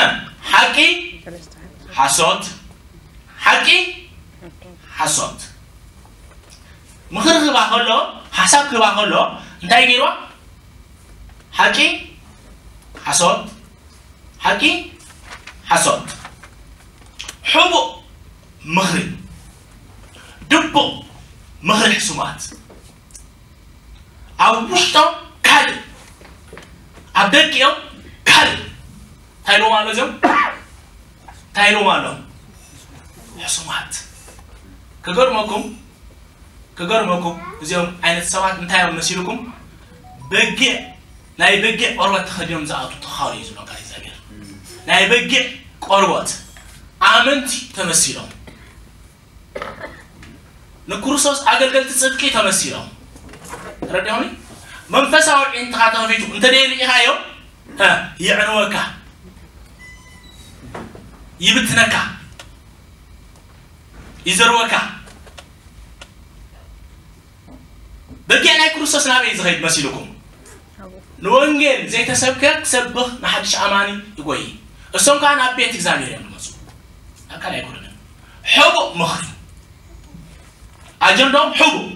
ሓቂ ሓሶት፣ ሓቂ ሓሶት። ምኽሪ ክህባ ከሎ፣ ሓሳብ ክህባ ከሎ እንታይ ገይርዋ? ሓቂ ሓሶት፣ ሓቂ ሓሶት። ሕቡእ ምኽሪ፣ ድቡቕ ምኽሪ ሕሱማት። ኣብ ውሽጦም ካልእ፣ ኣብ ደቂኦም ካልእ። እንታይ ኢሎም ኣሎ እዚኦም? እንታይ ኢሎም ኣሎ? ሕሱማት። ክገርመኩም፣ ክገርመኩም፣ እዚኦም ዓይነት ሰባት እንታይ እዮም መሲልኩም? በጊዕ፣ ናይ በጊዕ ቆርበት ተኸዲኖም ዝኣቱ ተኻሉ እዩ ዝብሎም ቃል እግዚኣብሔር። ናይ በጊዕ ቆርበት ኣመንቲ ተመሲሎም፣ ንክርስቶስ ኣገልገልቲ ጽድቂ ተመሲሎም። ረዲሆኒ መንፈሳዊ ዒንትኻ ተኸፊቱ እንተ ደይ ርኢኻዮ፣ እ፣ ይዕንወካ፣ ይብትነካ፣ ይዘርወካ። በጊዕ ናይ ክርስቶስ ናበይ ዝኸይድ መሲልኩም? ንወንጌል ዘይተሰብከ ክሰብኽ ንሓድሽ ኣማኒ ይጎይ። እሶም ከኣ ናብ ቤት እግዚኣብሔር እዮም ዝመጹ። ኣካል ኣይኮነን። ሕቡእ ምኽሪ። ኣጀንዳኦም ሕቡእ።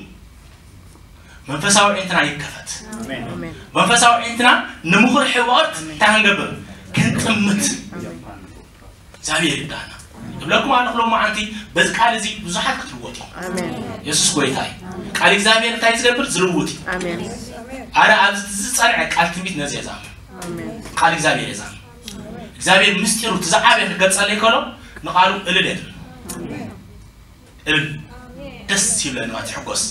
መንፈሳዊ ዒንትና ይከፈት። ኣሜን። መንፈሳዊ ዒንትና ንምኽሪ ሕቡኣት እንታይ ክንገብር? ክንጥምት። ኣሜን። እግዚኣብሔር ይርዳና። እብለኩም ኣለኹ ሎማዓንቲ በዚ ቃል እዚ ብዙሓት ክትልወጡ እዮም። ኣሜን። የሱስ ጎይታ እዩ። ቃል እግዚኣብሔር እንታይ ዝገብር? ዝልውጥ እዩ። ኣሜን። ኣነ ኣብዚ ዝጸንዐ ቃል ትንቢት ነዚ እየ ዝኣምን። ኣሜን። ቃል እግዚኣብሔር እየ ዝኣምን። እግዚኣብሔር ምስጢሩ እቲ ዝዓበየ ክገልጸለይ ከሎ ንቃሉ እልል እየ ዝብል። እልል። ደስ ይብለኒ ማለት ይሕጎስ።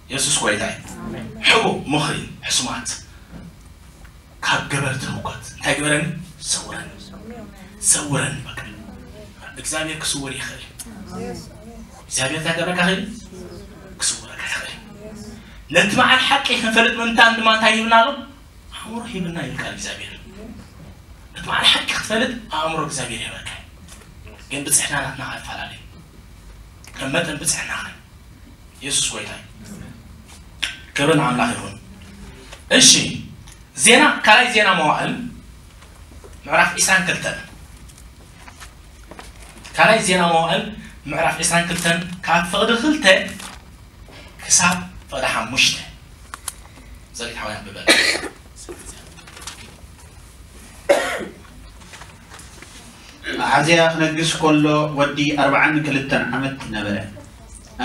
የሱስ ጎይታ እዩ። ሕቡእ ምኽሪ ሕሱማት ካብ ገበርቲ ህውከት እንታይ ግበረኒ? ሰውረኒ። ሰውረኒ በቃ። እግዚኣብሔር ክስውር ይኽእል። እግዚኣብሔር እንታይ ክገብረካ ይኽእል? ክስውረካ ይኽእል። ነቲ በዓል ሓቂ ክንፈልጥ ምእንታን ድማ እንታይ ሂብና ኣሎ? ኣእምሮ ሂብና ይብል ቃል እግዚኣብሔር። ነቲ በዓል ሓቂ ክትፈልጥ ኣእምሮ እግዚኣብሔር ይህበካ። ግን ብፅሕና ናትና ኸ ይፈላለ። ከም መጠን ብፅሕና ኸ። የሱስ ጎይታ እዩ። ክብሪ ንኣምላኽ ይኹን። እሺ፣ ዜና፣ ካልኣይ ዜና መዋእል ምዕራፍ ዒስራን ክልተን። ካልኣይ ዜና መዋእል ምዕራፍ ዒስራን ክልተን ካብ ፍቕዲ ክልተ ክሳብ ፍቕዲ ሓሙሽተ። ዘሪት ሓውያን ብበል። ኣሓዝያ ክነግስ ከሎ ወዲ ኣርብዓን ክልተን ዓመት ነበረ።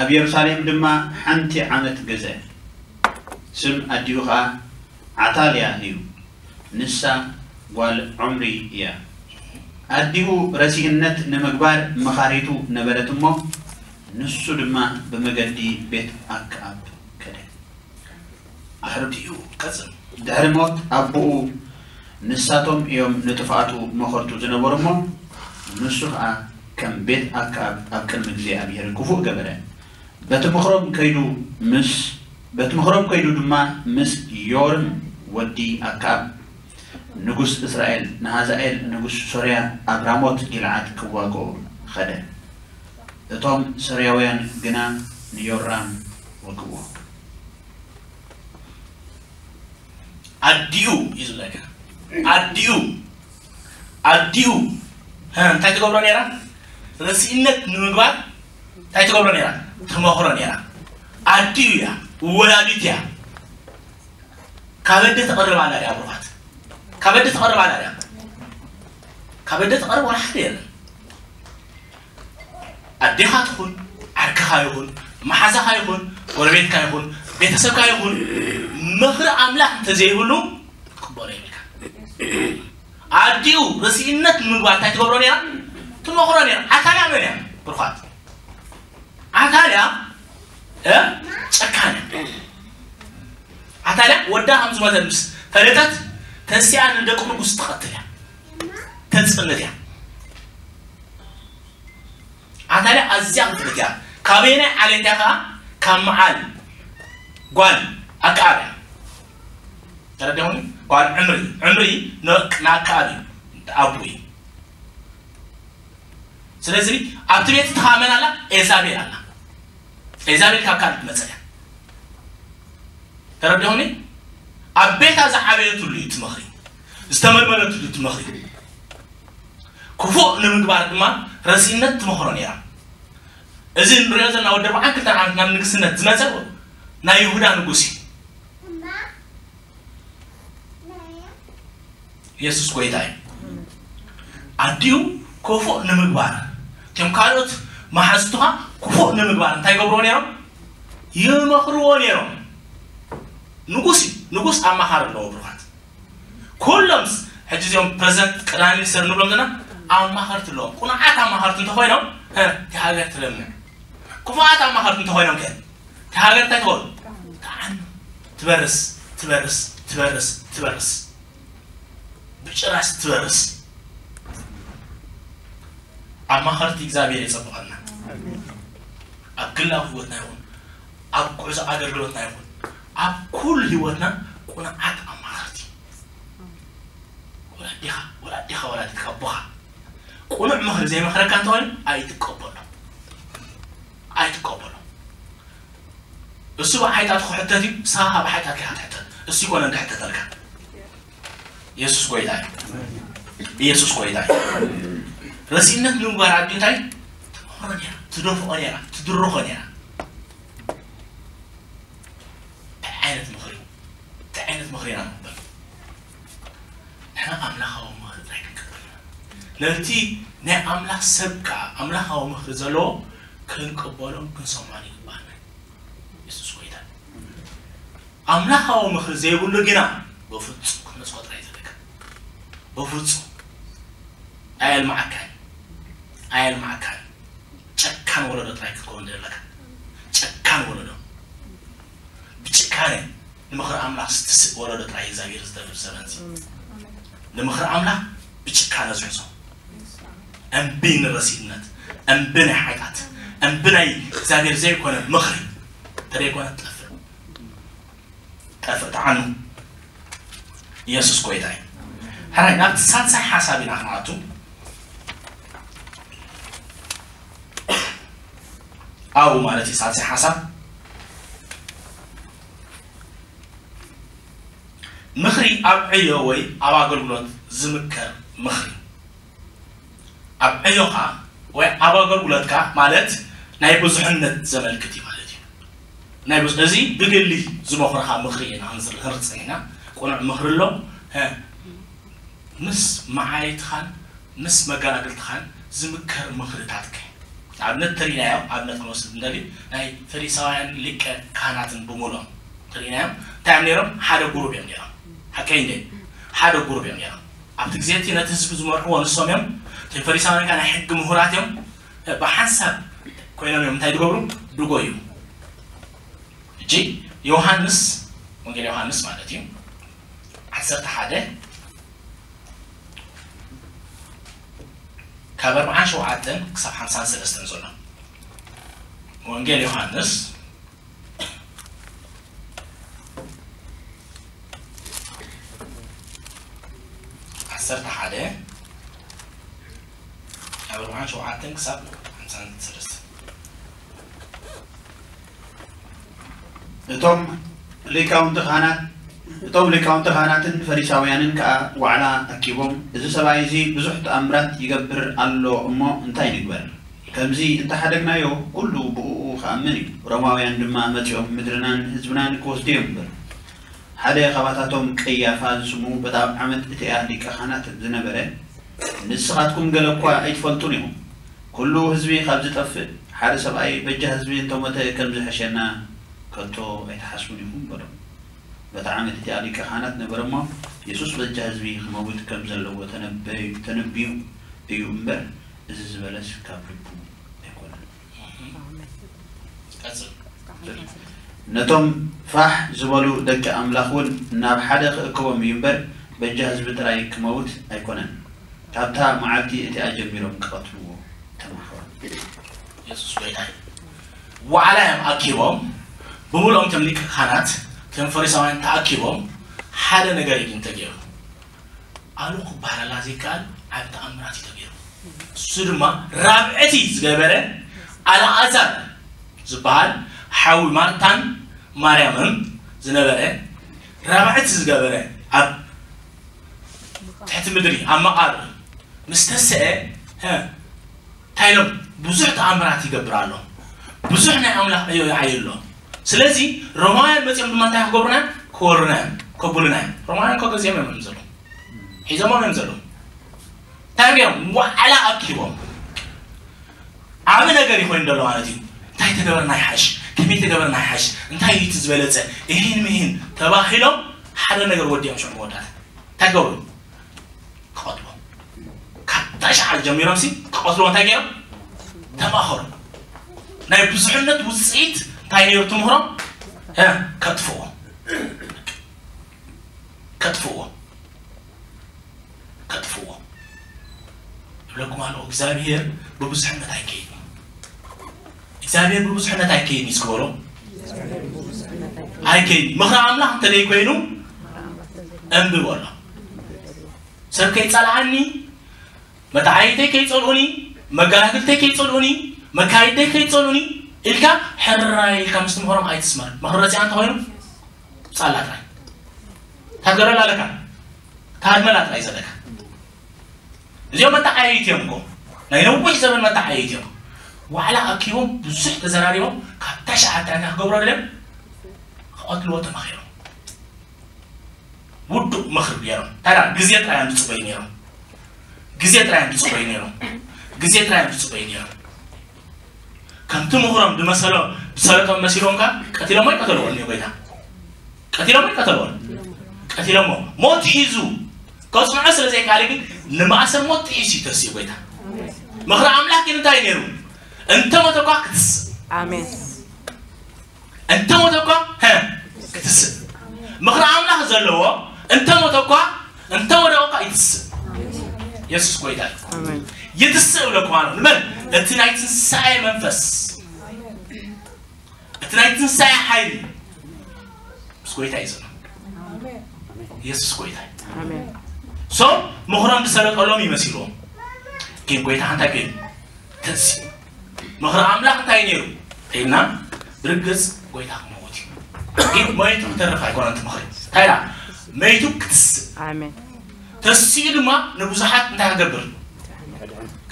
ኣብ የሩሳሌም ድማ ሓንቲ ዓመት ገዘ። ስም ኣዲኡ ኸኣ ዓታልያ እዩ። ንሳ ጓል ዖምሪ እያ። ኣዲኡ ረሲእነት ንምግባር መኻሪቱ ነበረት እሞ፣ ንሱ ድማ ብመገዲ ቤት ኣክኣብ ከደ። ኣሕርድኡ ቀጽል። ድሕሪ ሞት ኣቦኡ ንሳቶም እዮም ንጥፍኣቱ መኸርቱ ዝነበሩ እሞ፣ ንሱ ኸኣ ከም ቤት ኣክኣብ ኣብ ቅድሚ እግዚኣብሔር ክፉእ ገበረ። በቲ ምኽሮም ከይዱ ምስ፣ በቲ ምኽሮም ከይዱ ድማ ምስ ዮርም ወዲ ኣክኣብ ንጉስ እስራኤል፣ ንሃዛኤል ንጉስ ሶርያ፣ ኣብ ራሞት ጊልዓድ ክዋግኦ ኸደ። እቶም ሶርያውያን ግና ንዮራም ወግእዎ። ኣዲኡ እዩ ዝብለካ። ኣዲኡ፣ ኣዲኡ፣ እ፣ እንታይ ትገብሮ ነይራ? ርሲእነት ንምግባር እንታይ ትገብሮ ነይራ? ትመኽሮ ነይራ። ኣዲኡ እያ፣ ወላዲት እያ። ካብ ኣደ ትቐርብ ኣላ ድያ? ብሩኻት፣ ካብ ኣደ ትቐርብ ኣላ ድያ? ካብ ኣደ ትቐርብ ወላ ሓደ የለን። ኣዴኻ ትኹን፣ ዓርክኻ ይኹን፣ መሓዛኻ ይኹን፣ ጎረቤትካ ይኹን፣ ቤተሰብካ ይኹን፣ ምኽሪ ኣምላኽ እንተዘይብሉ ክትቅበሎ የብልካ። ኣዲኡ ርሲእነት ንምግባር እንታይ ትገብሮ ነይራ? ትመኽሮ ነይራ። ኣታልያ መን እያ? ብሩኻት፣ ኣታልያ፣ እ፣ ጨካን እያ። ኣታልያ ወዳ ከም ዝሞተ ምስ ፈለጠት፣ ተሲኣ ንደቂ ንጉስ ትቐትል እያ፣ ተጽንት እያ። ኣታልያ ኣዝያ ክትፍልጥ እያ። ካበየናይ ዓሌት እያ ከኣ? ካብ መዓል ጓል ኣከኣብ እያ። ተረዲኹም? ጓል ዕምሪ፣ ዕምሪ ን-፣ ንኣከኣብ እዩ፣ ኣቡ እዩ። ስለዚ ኣብቲ ቤት እትኻ መን ኣላ? ኤዛቤል ኣላ። ኤዛቤል ካብ ካልእ ትመጽእ እያ። ተረዲኹምኒ? ኣብ ቤታ ዝዓበየትሉ እዩ እቲ ምኽሪ፣ ዝተመልመለትሉ እቲ ምኽሪ። ክፉእ ንምግባር ድማ ረሲእነት ትመኽሮ ነይራ። እዚ ንሪኦ ዘለና ወዲ ኣርብዓን ክልተን ዓመት ናብ ንግስነት ዝመጸ ናይ ይሁዳ ንጉስ እዩ። የሱስ ጎይታ እዩ። ኣዲኡ ክፉእ ንምግባር፣ እቶም ካልኦት መሓዙትኻ ክፉእ ንምግባር እንታይ ይገብርዎ ነይሮም? ይመኽርዎ ነይሮም። ንጉስ እዩ። ንጉስ ኣማኻሪ ኣለዎ ብሩኻት። ኩሎምስ ሕጂ እዚኦም ፕረዚደንት ቀዳማይ ሚኒስትር ንብሎም ዘለና ኣማኸርቲ ኣለዎም። ቁኑዓት ኣማኸርቲ እንተኾይኖም እቲ ሃገር ትለምዕ። ክፉኣት ኣማኸርቲ እንተኾይኖም ከ እቲ ሃገር እንታይ ትኾን? ትዓኑ። ትበርስ ትበርስ ትበርስ ትበርስ ብጭራሽ ትበርስ። ኣማኸርቲ እግዚኣብሔር የጸብቐና። ኣብ ግላዊ ህይወትና ይኹን ኣብ ጉዕዞ ኣገልግሎትና ይኹን ኣብ ኩሉ ህይወትና ቁኑዓት ኣማኸርቲ ወላዲኻ ወላዲኻ ወላዲትካ ኣቦኻ ቁኑዕ ምኽሪ ዘይመኽረካ እንተኾይኑ ኣይትቀበሎ ኣይትቀበሎ። እሱ ብሓይጣት ክሕተት እዩ። ንስኻ ብሓይጣት ኢኻ ትሕተት። እሱ ይኮነን ክሕተተልካ። ኢየሱስ ጎይታ እዩ። ኢየሱስ ጎይታ እዩ። ረሲእነት ንምግባር ኣዲ እንታይ ትመኽሮ ነይራ፣ ትደፍኦ ነይራ፣ ትድርኾ ነይራ። እንታይ ዓይነት ምኽሪ እንታይ ዓይነት ምኽሪ ኢና ንቕበል? ንሕና ኣምላኻዊ ምኽሪ ጥራይ ክንቅበል ኢና። ነቲ ናይ ኣምላኽ ሰብ ከዓ ኣምላኻዊ ምኽሪ ዘለዎ ክንቅበሎን ክንሰምዖን ይግባና። የሱስ ጎይታ። ኣምላኻዊ ምኽሪ ዘይብሉ ግና በፍጹም ክትነጽጎ ጥራይ ዘለካ። በፍጹም ኣየልማዓካን ኣየልማዓካን። ጨካን ወለዶ ጥራይ ክትከውን ዘለካ። ጨካን ወለዶ። ብጭካነ ንምኽሪ ኣምላኽ ዝትስእ ወለዶ ጥራይ እግዚኣብሔር ዝደርብ ዘበን እዚ። ንምኽሪ ኣምላኽ ብጭካነ ዝሕዞ። እምቢ ንረሲእነት፣ እምቢ ናይ ሓጢኣት፣ እምቢ ናይ እግዚኣብሔር ዘይኮነ ምኽሪ። ተደይኮነ ትጠፍእ። ጠፍእ፣ ተዓኑ። ኢየሱስ ጎይታ እዩ። ሕራይ ናብቲ ሳልሳይ ሓሳብ ኢና ክንኣቱ። ኣብኡ ማለት እዩ ሳልሳይ ሓሳብ። ምኽሪ ኣብ ዕዮ ወይ ኣብ ኣገልግሎት ዝምከር ምኽሪ። ኣብ ዕዮኻ ወይ ኣብ ኣገልግሎትካ ማለት ናይ ብዙሕነት ዘመልክት እዩ ማለት እዩ። ናይ ብዙ-፣ እዚ ብግሊ ዝመኽረኻ ምኽሪ ኢና ክንዝር-፣ ክንርጽን ኢና። ቁኑዕ ምኽሪ ኣሎ። ሀ፣ ምስ መዓይትኻን ምስ መጋናግልትኻን ዝምከር ምኽርታትከ? ኣብነት ተሪእናዮ፣ ኣብነት ክንወስድ እንደሊ ናይ ፈሪሳውያን ሊቀ ካህናትን ብምሉኦም ተሪእናዮም። እንታይ እዮም ነይሮም? ሓደ ጉሩብ እዮም ነይሮም። ሓቀይ እንደ ሓደ ጉሩብ እዮም ነይሮም። ኣብቲ ግዜ እቲ ነቲ ህዝቢ ዝመርሕዎ ንሶም እዮም። እቶም ፈሪሳውያን ከኣ ናይ ሕጊ ምሁራት እዮም። ብሓንሳብ ኮይኖም እዮም እንታይ ዝገብሩ? ድጎዩ። ሕጂ ዮሃንስ፣ ወንጌል ዮሃንስ ማለት እዩ፣ ዓሰርተ ሓደ ካብ ኣርብዓን ሸውዓተን ክሳብ ሓምሳን ሰለስተን ዘሎ። ወንጌል ዮሃንስ ዓሰርተ ሓደ ካብ ኣርብዓን ሸውዓተን ክሳብ ሓምሳን ሰለስተን። እቶም ሊቃውንቲ ካህናት፣ እቶም ሊቃውንቲ ካህናትን ፈሪሳውያንን ከኣ ዋዕላ ኣኪቦም፣ "እዚ ሰብኣይ እዚ ብዙሕ ተኣምራት ይገብር ኣሎ እሞ እንታይ ንግበር? ከምዚ እንተሓደግናዮ ኩሉ ብእኡ ክኣምን እዩ። ሮማውያን ድማ መጺኦም ምድርናን ህዝብናን ክወስዱ እዮም" በሉ። ሓደ ካብኣታቶም ቀያፋ ዝስሙ በታ ኣብ ዓመት እቲኣ ሊቀ ካህናት ዝነበረ፣ "ንስኻትኩም ገለ እኳ ኣይትፈልጡን ኢኹም። ኩሉ ህዝቢ ካብ ዝጠፍእ፣ ሓደ ሰብኣይ በጃ ህዝቢ እንተሞተ ከም ዝሕሸና ከቶ ኣይትሓስቡን ኢኹም" በሎም። በታ ዓመት እቲኣ ሊቀ ካህናት ነበረ እሞ፣ የሱስ በጃ ህዝቢ ክመውት ከም ዘለዎ ተነበዩ-፣ ተነብዩ እዩ እምበር፣ እዚ ዝበለስ ካብ ልቡ ኣይኮነን። ቀጽል። ነቶም ፋሕ ዝበሉ ደቂ ኣምላኽ እውን ናብ ሓደ ክእክቦም እዩ እምበር፣ በጃ ህዝቢ ጥራይ ክመውት ኣይኮነን። ካብታ መዓልቲ እቲኣ ጀሚሮም ክቐትልዎ ተማኸሩ። የሱስ ጎይታ እዩ። ዋዕላ እዮም ኣኪቦም፣ ብምልኦም እቶም ሊቀ ካህናት፣ እቶም ፈሪሳውያን ተኣኪቦም፣ ሓደ ነገር እዩ ግን ተገይሩ። ኣሉ ክበሃለላ ዘይከኣል ዓቢ ተኣምራት እዩ ተገይሩ። እሱ ድማ ራብዕቲ ዝገበረ ኣልኣዛር ዝበሃል ሓዊ ማርታን ማርያምን ዝነበረ ራብዕቲ ዝገበረ ኣብ ትሕቲ ምድሪ ኣብ መቓብር ምስ ተስአ፣ ሀ፣ እንታይ ኢሎም? ብዙሕ ተኣምራት ይገብር ኣሎ። ብዙሕ ናይ ኣምላኽ ዕዮ ይዓዩ ኣሎ። ስለዚ ሮማውያን መጺኦም ድማ እንታይ ክገብሩና? ክወሩና እዮም፣ ከብሉና እዮም። ሮማውያን እኮ ገዚኦም እዮም ዘለዉ። ሒዞሞም እዮም ዘለዉ። እንታይ እዮም? ዋዕላ ኣኪቦም። ዓቢ ነገር እዩ ኮይኑ ዘሎ ማለት እዩ። እንታይ ተገበርና ይሓሽ፣ ከመይ ተገበርና ይሓሽ፣ እንታይ እዩ እቲ ዝበለፀ፣ ይህን ምሂን ተባሂሎም ሓደ ነገር ወዲኦም ሽዑ መወዳእታ እንታይ ገበሩ? ክቐትሉ። ካብታ ሸዓል ጀሚሮም ሲ ክቐትልዎ እንታይ ገይሮም? ተማኸሩ። ናይ ብዙሕነት ውፅኢት እንታይ ነይሩ ትምህሮም? እ፣ ከጥፍዎ። ከጥፍዎ። ከጥፍዎ። እብለኩም ኣለኹ፣ እግዚኣብሔር ብብዙሕነት ኣይከይድን። እግዚኣብሔር ብብዙሕነት ኣይከይድን እዩ። እስኪ በሎ። ኣይከይድን። ምኽሪ ኣምላኽ እንተ ዘይኮይኑ፣ እምቢ በሎ። ሰብ ከይጸልኣኒ፣ መተዓይተይ ከይጸልኡኒ፣ መገላግልተይ ከይጸልኡኒ፣ መካይደይ ከይጸልኡኒ ኢልካ ሕራይ ኢልካ ምስ ትምህሮም ኣይትስመር። ምኽሪ ረሲዓ እንተኾይኑ፣ ጻላ ጥራይ። ታገረላ ኣለካ። ታድመላ ጥራይ ዘለካ። እዚኦም መተዓየይቲ እዮም እኮ። ናይ ነዊሕ ዘመን መተዓየይቲ እዮም። ዋዕላ ኣኪቦም ብዙሕ ተዘራሪቦም፣ ካብ ታሽዓተ እንታይ ክገብሩ ድልዮም? ክቐትልዎ ተማኺሮም። ውዱእ ምኽሪ ገይሮም። ታዲያ ግዜ ጥራይ እዮም ዝጽበዩ ነይሮም። ግዜ ጥራይ እዮም ዝጽበዩ ነይሮም። ግዜ ጥራይ እዮም ዝጽበዩ ነይሮም። ከምቲ ምኽሮም ዝመሰሎ፣ ዝሰለጦም መሲሎም ከኣ ቀቲሎሞ ይቀተልዎ እዮም ጎይታ። ቀቲሎሞ ይቀተልዎ። ቀቲሎሞ። ሞት ሒዙ ከጽንዖ ስለ ዘይከኣለ ግን ንማእሰር ሞት ጥሒሱ እዩ ተሲኡ ጎይታ። ምኽሪ ኣምላኽ ግን እንታይ ነይሩ? እንተ ሞተ እኳ ክትስእ። ኣሜን። እንተ ሞተ እኳ፣ ሀ፣ ክትስእ። ምኽሪ ኣምላኽ ዘለዎ እንተ ሞተ እኳ፣ እንተ ወደቐ እኳ ይትስእ። የሱስ ጎይታ እዩ። ኣሜን። ይትስእ እብለኩም ኣለኹ። ንመን? እቲ ናይ ትንሳኤ መንፈስ፣ እቲ ናይ ትንሳኤ ሓይሊ ምስ ጎይታ እዩ ዘሎ። የሱስ ጎይታ እዩ። ኣሜን። ሶ ምኽሮም ዝሰለጠሎም ይመሲልዎም። ግን ጎይታ እንታይ ኮይኑ? ተንሲኡ። ምኽሪ ኣምላኽ እንታይ ነይሩ? ኢልና ብርግጽ ጎይታ ክመውት እዩ። ግን መይቱ ክተርፍ ኣይኮነን እቲ ምኽሪ። እንታይ ኢላ? መይቱ ክትስእ። ኣሜን። ተሲኡ ድማ ንብዙሓት እንታይ ክገብር?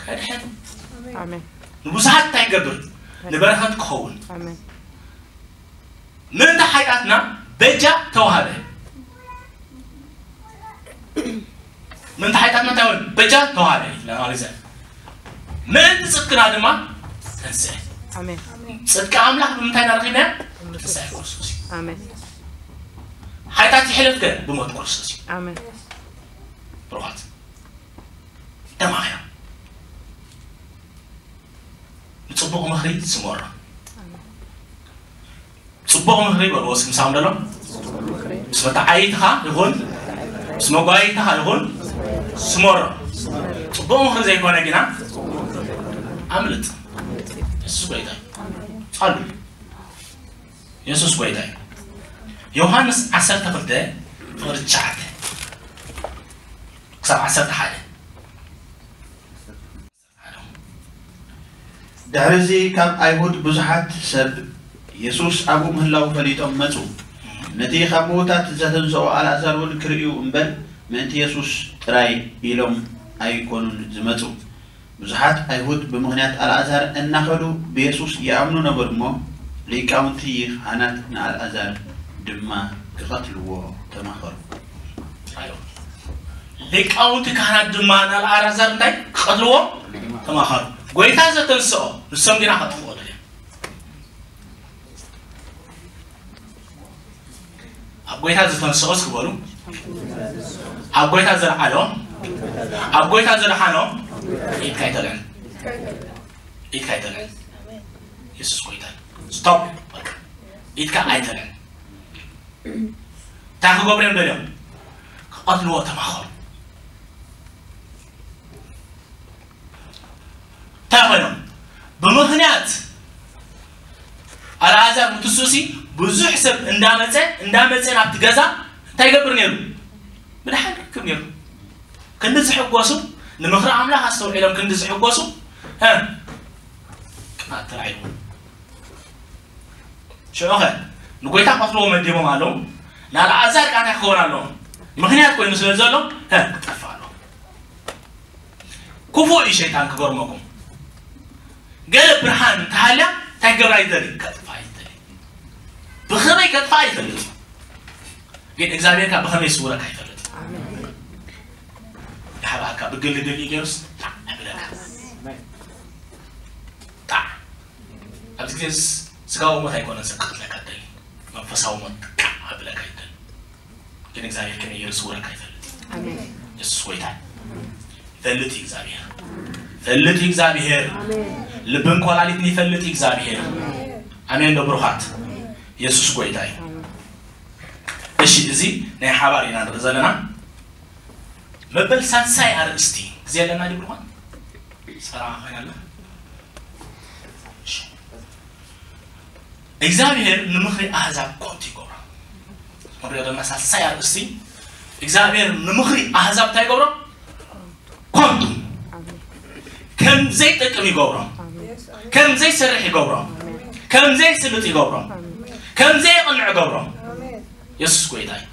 ከድሕን። ኣሜን። ንብዙሓት እንታይ ክገብር? ንበረኸት ክኸውን። ኣሜን። ምእንቲ ሓጢኣትና በጃ ተዋህበ። ምእንቲ ሓጢኣትና እንታይ ሆነ? በጃ ተዋህበ። ለማለት ምእንቲ ጽድቅና ድማ ተንስአ። ኣሜን። ጽድቂ ኣምላኽ ብምንታይ ኢና ረኺብናዮ? ትንሳኤ ክርስቶስ እዩ። ኣሜን። ሓጢኣት ይሕለፍ ከ ብሞት ክርስቶስ እዩ። ኣሜን። ብሩኻት ተማኺሮም ንጽቡቕ ምኽሪ ስመሮ። ጽቡቕ ምኽሪ በልዎ እስኪ ምሳኹም ዘሎ። ምስ መተዓይትኻ ይኹን ምስ መጓይትኻ ይኹን ስመሮ። ጽቡቕ ምኽሪ ዘይኮነ ግና ኣምልጥ። የሱስ ጎይታ እዩ። ጻሉ። የሱስ ጎይታ እዩ። ዮሃንስ ዓሰርተ ክልተ ፍቕሪ ትሽዓተ ክሳብ ዓሰርተ ሓደ። ድሕርዚ ካብ ኣይሁድ ብዙሓት ሰብ የሱስ ኣብኡ ምህላዉ ፈሊጦም መጹ። ነቲ ካብ ምዉታት ዘተንስኦ ኣልኣዛር እውን ክርእዩ እምበር ምእንቲ የሱስ ጥራይ ኢሎም ኣይኮኑን ዝመጹ። ብዙሓት ኣይሁድ ብምኽንያት ኣልኣዛር እናኸዱ ብየሱስ ይኣምኑ ነበሩ እሞ ሊቃውንቲ ካህናት ንኣልኣዛር ድማ ክቐትልዎ ተማኸሩ። ሊቃውንቲ ካህናት ድማ ንኣልኣዛር እንታይ ክቐትልዎ ተማኸሩ። ጎይታ ዘተንስኦ ንሶም ግና ከጥፍኦ ደልዮም። ኣብ ጎይታ ዝተንስኦ እስኪ በሉ። ኣብ ጎይታ ዘልዓሎ፣ ኣብ ጎይታ ዘድሓኖ ኢድካ ኣይተልዕል። ኢድካ ኣይተልዕል። የሱስ ጎይታ እዩ። ስቶፕ። በቃ ኢድካ ኣይተልዕል። እንታይ ክገብሩ እዮም ደልዮም? ክቐትልዎ ተማኸሩ። እንታይ ኮይኖም? ብምኽንያት ኣልኣዛር ምትስኡሲ ብዙሕ ሰብ እንዳመፀ እንዳመፀ ናብቲ ገዛ እንታይ ይገብር ነይሩ? ምድሓን ርክብ ነይሩ። ክንዲ ዝሕጎሱ ንምኽሪ ኣምላኽ ኣስተውዒሎም ክንዲ ዝሕጎሱ እ ቅናት ተላዒልዎም። ሽዑኸ ንጎይታ ክቐትልዎ መዲቦም ኣለዉ። ንኣልኣዛር ከኣ እንታይ ክኸውን ኣለዎም? ምኽንያት ኮይኑ ስለ ዘሎ እ ክጠፍእ ኣለዎ። ክፉእ እዩ ሸይጣን ክገርመኩም። ገለ ብርሃን እንተሃልያ እንታይ ክገብራ ይደሊ? ከጥፍኣ ይደሊ። ብኸመይ ከጥፍኣ ይፈልጥ። ግን እግዚኣብሔር ከኣ ብኸመይ ይስውረካ ይፈልጥ። ይሓብኣካ ብግልግል እዩ ገይሩስ ጣዕ ይብለካ። ጣዕ ኣብዚ ግዜ ስ-፣ ስጋዊ ሞት ኣይኮነን ሰብ ክቐትለካ ይደሊ፣ መንፈሳዊ ሞት ቃዕ ኣብለካ ይደሊ። ግን እግዚኣብሔር ከመይ ገይሩ ዝስውረካ ይፈልጥ። ኣሜን። የሱስ ጎይታ እዩ። ይፈልጥ እዩ እግዚኣብሔር። ይፈልጥ እዩ እግዚኣብሔር። ኣሜን። ልብን ኮላሊትን ይፈልጥ እዩ እግዚኣብሔር። ኣሜን። ኣሜን ዶ ብሩኻት? ኣሜን። የሱስ ጎይታ እዩ። ኣሜን። እሺ፣ እዚ ናይ ሓባር ኢና ንርኢ ዘለና። መበል ሳልሳይ ኣርእስቲ ግዜ ኣለና ድዩ ብሩኻት? ሰራ ኸይና ኣላ። እሺ። እግዚኣብሔር ንምኽሪ ኣህዛብ ኮንቱ ይገብሮ። ንሪኦ ዘለና ሳልሳይ ኣርእስቲ፣ እግዚኣብሔር ንምኽሪ ኣህዛብ እንታይ ይገብሮ? ኮንቱ። ከም ዘይጠቅም ይገብሮ። ከም ዘይሰርሕ ይገብሮ። ከም ዘይስልጥ ይገብሮ። ከም ዘየቕንዕ ይገብሮ። የሱስ ጎይታ እዩ።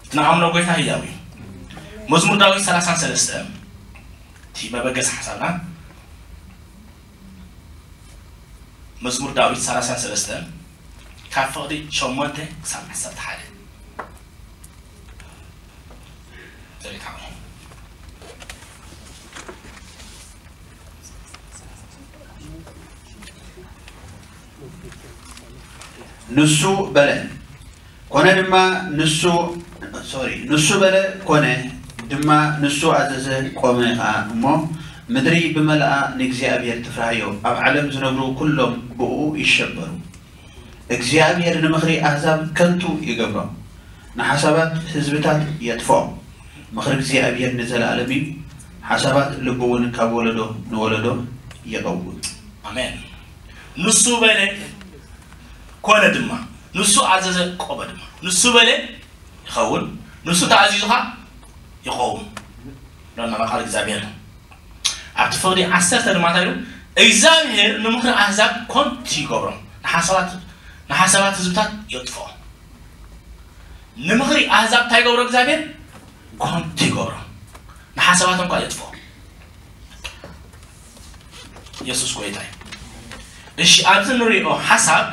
እቲ ንኣምኖ ጎይታ ህያው እዩ። መዝሙር ዳዊት ሰላሳን ሰለስተ፣ እቲ መበገሲ ሓሳብና፣ መዝሙር ዳዊት ሰላሳን ሰለስተ ካብ ፍቕዲ ሸሞንተ ክሳብ ዓሰርተ ሓደ። ንሱ በለ፣ ኮነ ድማ ንሱ፣ ሶሪ፣ ንሱ በለ፣ ኮነ ድማ ንሱ ኣዘዘ፣ ቆመ ኸኣ እሞ፣ ምድሪ ብመልኣ ንእግዚኣብሔር ትፍራህዮ፣ ኣብ ዓለም ዝነብሩ ኩሎም ብእኡ ይሸበሩ። እግዚኣብሔር ንምኽሪ ኣህዛብ ከንቱ ይገብሮ፣ ንሓሳባት ህዝብታት የጥፍኦ። ምኽሪ እግዚኣብሔር ንዘለኣለም እዩ፣ ሓሳባት ልቡ እውን ካብ ወለዶ ንወለዶ ይቐውም። ኣሜን። ንሱ በለ ኮነ ድማ፣ ንሱ ኣዘዘ ቆመ ድማ። ንሱ በለ ይኸውን፣ ንሱ ተኣዚዙኻ ይቐውም። ሎና ቃል እግዚኣብሔር ኣብቲ ፍቕዲ ዓሰርተ ድማ እንታይ ኢሉ? እግዚኣብሔር ንምኽሪ ኣህዛብ ኮንቲ ይገብሮም፣ ንሓሳባት ንሓሳባት ህዝብታት የጥፍኦም። ንምኽሪ ኣህዛብ እንታይ ይገብሮ እግዚኣብሔር? ኮንቲ ይገብሮም፣ ንሓሳባቶም ኳ የጥፍኦም። የሱስ ጎይታ እዩ። እሺ፣ ኣብዚ ንሪኦ ሓሳብ፣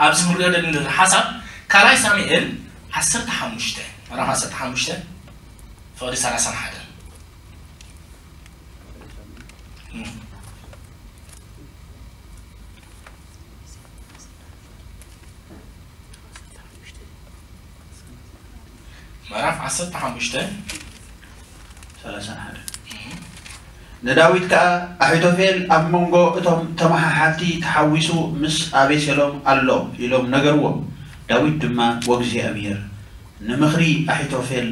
ኣብዚ ንሪኦ ዘለና ሓሳብ ካልኣይ ሳሙኤል ዓሰርተ ሓሙሽተ፣ ምዕራፍ ዓሰርተ ሓሙሽተ ፍቕዲ ሰላሳን ሓደን። ምዕራፍ ዓሰርተ ሓሙሽተ ሰላሳን ሓደን። ንዳዊት ከኣ ኣሒቶፌል ኣብ መንጎ እቶም ተመሓሓልቲ ተሓዊሱ ምስ ኣቤሴሎም ኣሎ ኢሎም ነገርዎ። ዳዊት ድማ ወእግዚኣብሔር ንምኽሪ ኣሒቶፌል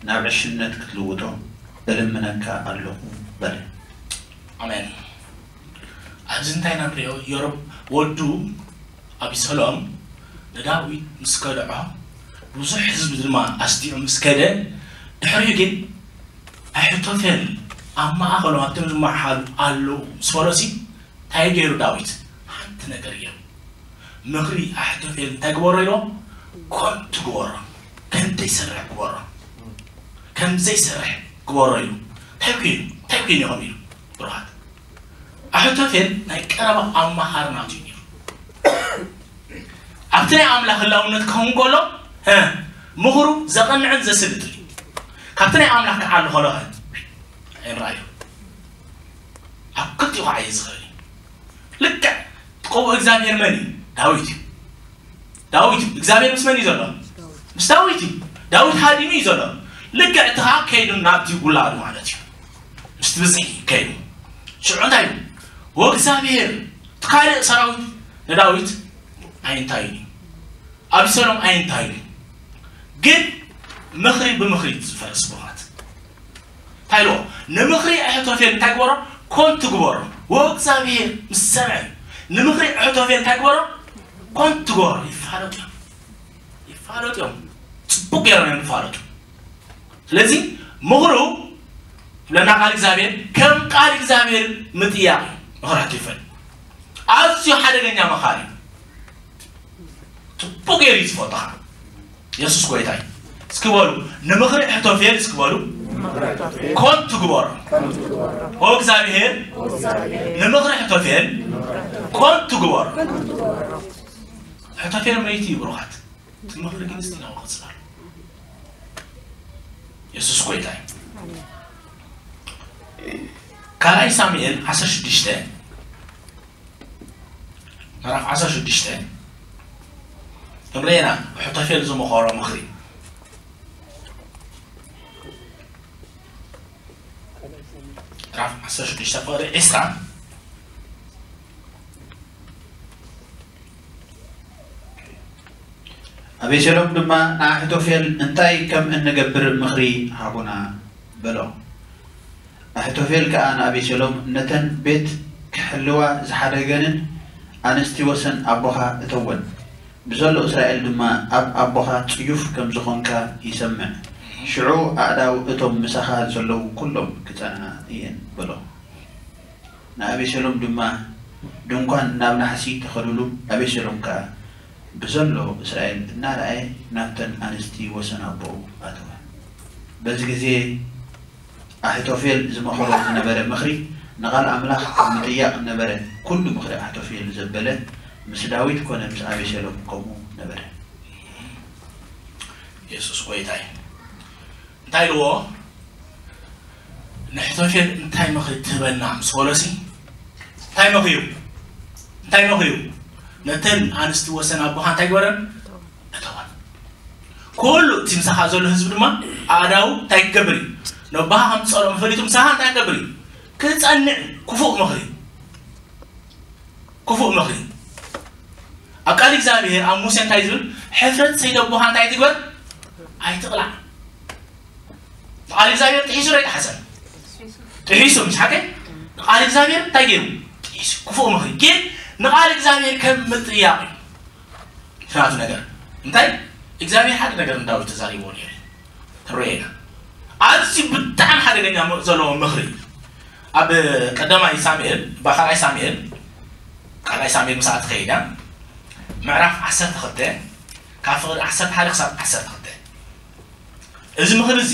ናብ ዕሽነት ክትልውጦ እልምነካ ኣለኹ በለ። ኣሜን። ኣብዚ እንታይ ኢና ንሪኦ? የሮብ ወዱ ኣቢሰሎም ንዳዊት ምስ ከድዖ ብዙሕ ህዝቢ ድማ ኣስዲዑ ምስ ከደ ድሕሪኡ ግን ኣሒቶፌል ኣብ ማእኸሎም ኣብቶም ዝመሓሉ ኣለዉ ምስ በሎሲ እንታይ ገይሩ ዳዊት? ሓንቲ ነገር ገይሩ። ምኽሪ ኣሒቶፌል እንታይ ግበሮ ኢልዎ? ኮንቱ ግበሮ፣ ከም ዘይሰርሕ ግበሮ፣ ከም ዘይሰርሕ ግበሮ ኢሉ እንታይ ኮይኑ እንታይ ኮይኑ ኢኹም ኢሉ ብሩኻት ኣሕቶፌል ናይ ቀረባ ኣማኻሪ ናቱ እዩ ነይሩ። ኣብቲ ናይ ኣምላኽ ህላውነት ክኸውን ከሎ ምኽሩ ዘቐንዕን ዘስልጥን እዩ። ካብቲ ናይ ኣምላኽ ክዓሊ ከሎ ኣይንረኣዮ። ኣብ ክልቲኡ ክዓየ ዝኽእል እዩ። ልክዕ እቲ ቀብኡ እግዚኣብሔር መን እዩ? ዳዊት እዩ። ዳዊት እዩ። እግዚኣብሔር ምስ መን እዩ ዘሎ? ምስ ዳዊት እዩ። ዳዊት ሃዲሙ እዩ ዘሎ። ልክዕ እቲ ከዓ ከይዱ ናብቲ ውላዱ ማለት እዩ። ምስቲ ብዝሒ ከይዱ ሽዑ እንታይ እዩ? ወእግዚኣብሔር እቲ ካልእ ሰራዊት ንዳዊት ኣይንታዩን እዩ። ኣቢሰሎም ኣይንታዩን እዩ። ግን ምኽሪ ብምኽሪ ዝፈርስ ብሩኻት እንታይ ኢልዎ? ንምኽሪ ኣሕቶፌል እንታይ ግበሮ? ኮንቱ ግበሮ። ወእግዚኣብሔር ምስ ሰምዐ ንምኽሪ ኣሕቶፌል እንታይ ግበሮ? ኮንቱ ግበሮ። ይፋለጡ እዮም። ይፋለጡ እዮም። ፅቡቅ ገይሮም እዮም ይፋለጡ። ስለዚ ምኽሩ ዝብለና ቃል እግዚኣብሔር ከም ቃል እግዚኣብሔር ምጥያቕ እዩ። ምኽሪ ኣሕቶፌል ኣዝዩ ሓደገኛ መኻሪ እዩ። ፅቡቅ ገይሩ እዩ ዝፈልጦኻ። የሱስ ጎይታ እዩ። እስኪ በሉ ንምኽሪ ኣሕቶፌል እስኪ በሉ ኮንቱ ግበሮ። ኦ እግዚኣብሔር ንምኽሪ ኣሕቶፌል ኮንቱ ግበሮ። ኣሕቶፌል መይቲ እዩ ብሩኻት። እቲ ምኽሪ ግን እስቲ ናብኡ ክጽናሉ። የሱስ ጎይታ እዩ። ካልኣይ ሳሙኤል ዓሰርተ ሽዱሽተ ምዕራፍ ዓሰርተ ሽዱሽተ ክንርኤና ኣሒቶፌል ዝመኸሮ ምኽሪ። ምዕራፍ ዓሰርተ ሽዱሽተ ፍቕሪ ዕስራ። ኣቤሴሎም ድማ ንኣሒቶፌል እንታይ ከም እንገብር ምኽሪ ሃቡና በሎ። ኣሒቶፌል ከኣ ንኣቤሴሎም ነተን ቤት ክሕልዋ ዝሓደገንን ኣንስቲ ወሰን ኣቦኻ እተወን፣ ብዘሎ እስራኤል ድማ ኣብ ኣቦኻ ጽዩፍ ከም ዝኾንካ ይሰምዕ። ሽዑ ኣእዳው እቶም ምሳኻ ዘለዉ ኩሎም ክጸንዓ እየን በሎ። ንኣቤሴሎም ድማ ድንኳን ናብ ናሕሲ ተኸሉሉ። ኣቤሴሎም ከኣ ብዘሎ እስራኤል እናረኣየ ናብተን ኣንስቲ ወሰን ኣቦኡ ኣተወ። በዚ ግዜ ኣሒቶፌል ዝመኸሮ ዝነበረ ምኽሪ ንቓል ኣምላኽ ኣብ ምጥያቕ ነበረ። ኩሉ ምኽሪ ኣሒቶፌል ዘበለ ምስ ዳዊት ኮነ ምስ ኣቤሴሎም ከምኡ ነበረ። የሱስ ጐይታ እዩ። እንታይ ኢልዎ? ንሕቶፌል እንታይ ምኽሪ ትህበና ምስ በሎሲ እንታይ መኽዩ? እንታይ መኽዩ? ነተን ኣንስቲ ወሰን ኣቦኻ እንታይ ግበረን? እተወን። ኩሉ እቲ ምሳኻ ዘሎ ህዝቢ ድማ ኣእዳው እንታይ ክገብር እዩ? ነቦኻ ከም ዝጸልኦም ፈሊጡ ምሳኻ እንታይ ክገብር እዩ? ክጸንዕ እዩ። ክፉእ ምኽሪ። ክፉእ ምኽሪ። ኣብ ቃል እግዚኣብሔር ኣብ ሙሴ እንታይ ዝብል? ሕፍረት ሰይደ ኣቦኻ እንታይ ትግበር? ኣይትቕላዕ። ቃል እግዚኣብሔር ጥሒሱ ዶ ኣይጠሓሰን? ጥሒሱ፣ ምስ ሓቀ ቃል እግዚኣብሔር እንታይ ገይሩ? ጥሒሱ። ክፉእ ምኽሪ ግን ንቃል እግዚኣብሔር ከም ምጥያቕ እዩ። ትራፍ ነገር እንታይ እግዚኣብሔር ሓደ ነገር ንዳዊት ተዛሪቦ ነይሩ። ትረኤና ኣዝዩ ብጣዕሚ ሓደገኛ ም- ዘለዎ ምኽሪ እዩ። ኣብ ቀዳማይ ሳሙኤል ባኻልኣይ ሳሙኤል ካልኣይ ሳሙኤል ምስኣ ትኸይዳ ምዕራፍ ዓሰርተ ክልተ ካብ ፍቕዲ ዓሰርተ ሓደ ክሳብ ዓሰርተ ክልተ እዚ ምኽሪ እዚ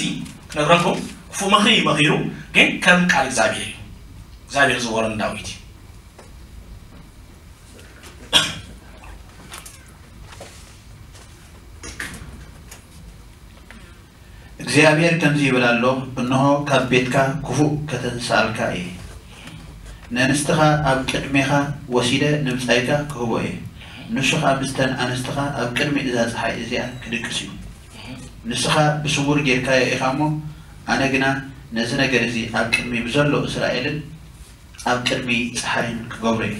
ክነግረኩም ክፉእ ምኽሪ እዩ መኺሩ ግን ከም ቃል እግዚኣብሔር እዩ እግዚኣብሔር ዝወረ ንዳዊት እዩ። እግዚኣብሔር ከምዚ ይብል ኣሎ፣ እንሆ ካብ ቤትካ ክፉእ ከተንስኣልካ እየ። ነንስትኻ ኣብ ቅድሜኻ ወሲደ ንብጻይካ ክህቦ እየ። ንሱ ኸኣ ምስተን ኣንስትኻ ኣብ ቅድሚ እዛ ጸሓይ እዚኣ ክድቅስ እዩ። ንስኻ ብስዉር ጌርካዮ ኢኻ እሞ፣ ኣነ ግና ነዚ ነገር እዚ ኣብ ቅድሚ ብዘሎ እስራኤልን ኣብ ቅድሚ ጸሓይን ክገብሮ እየ።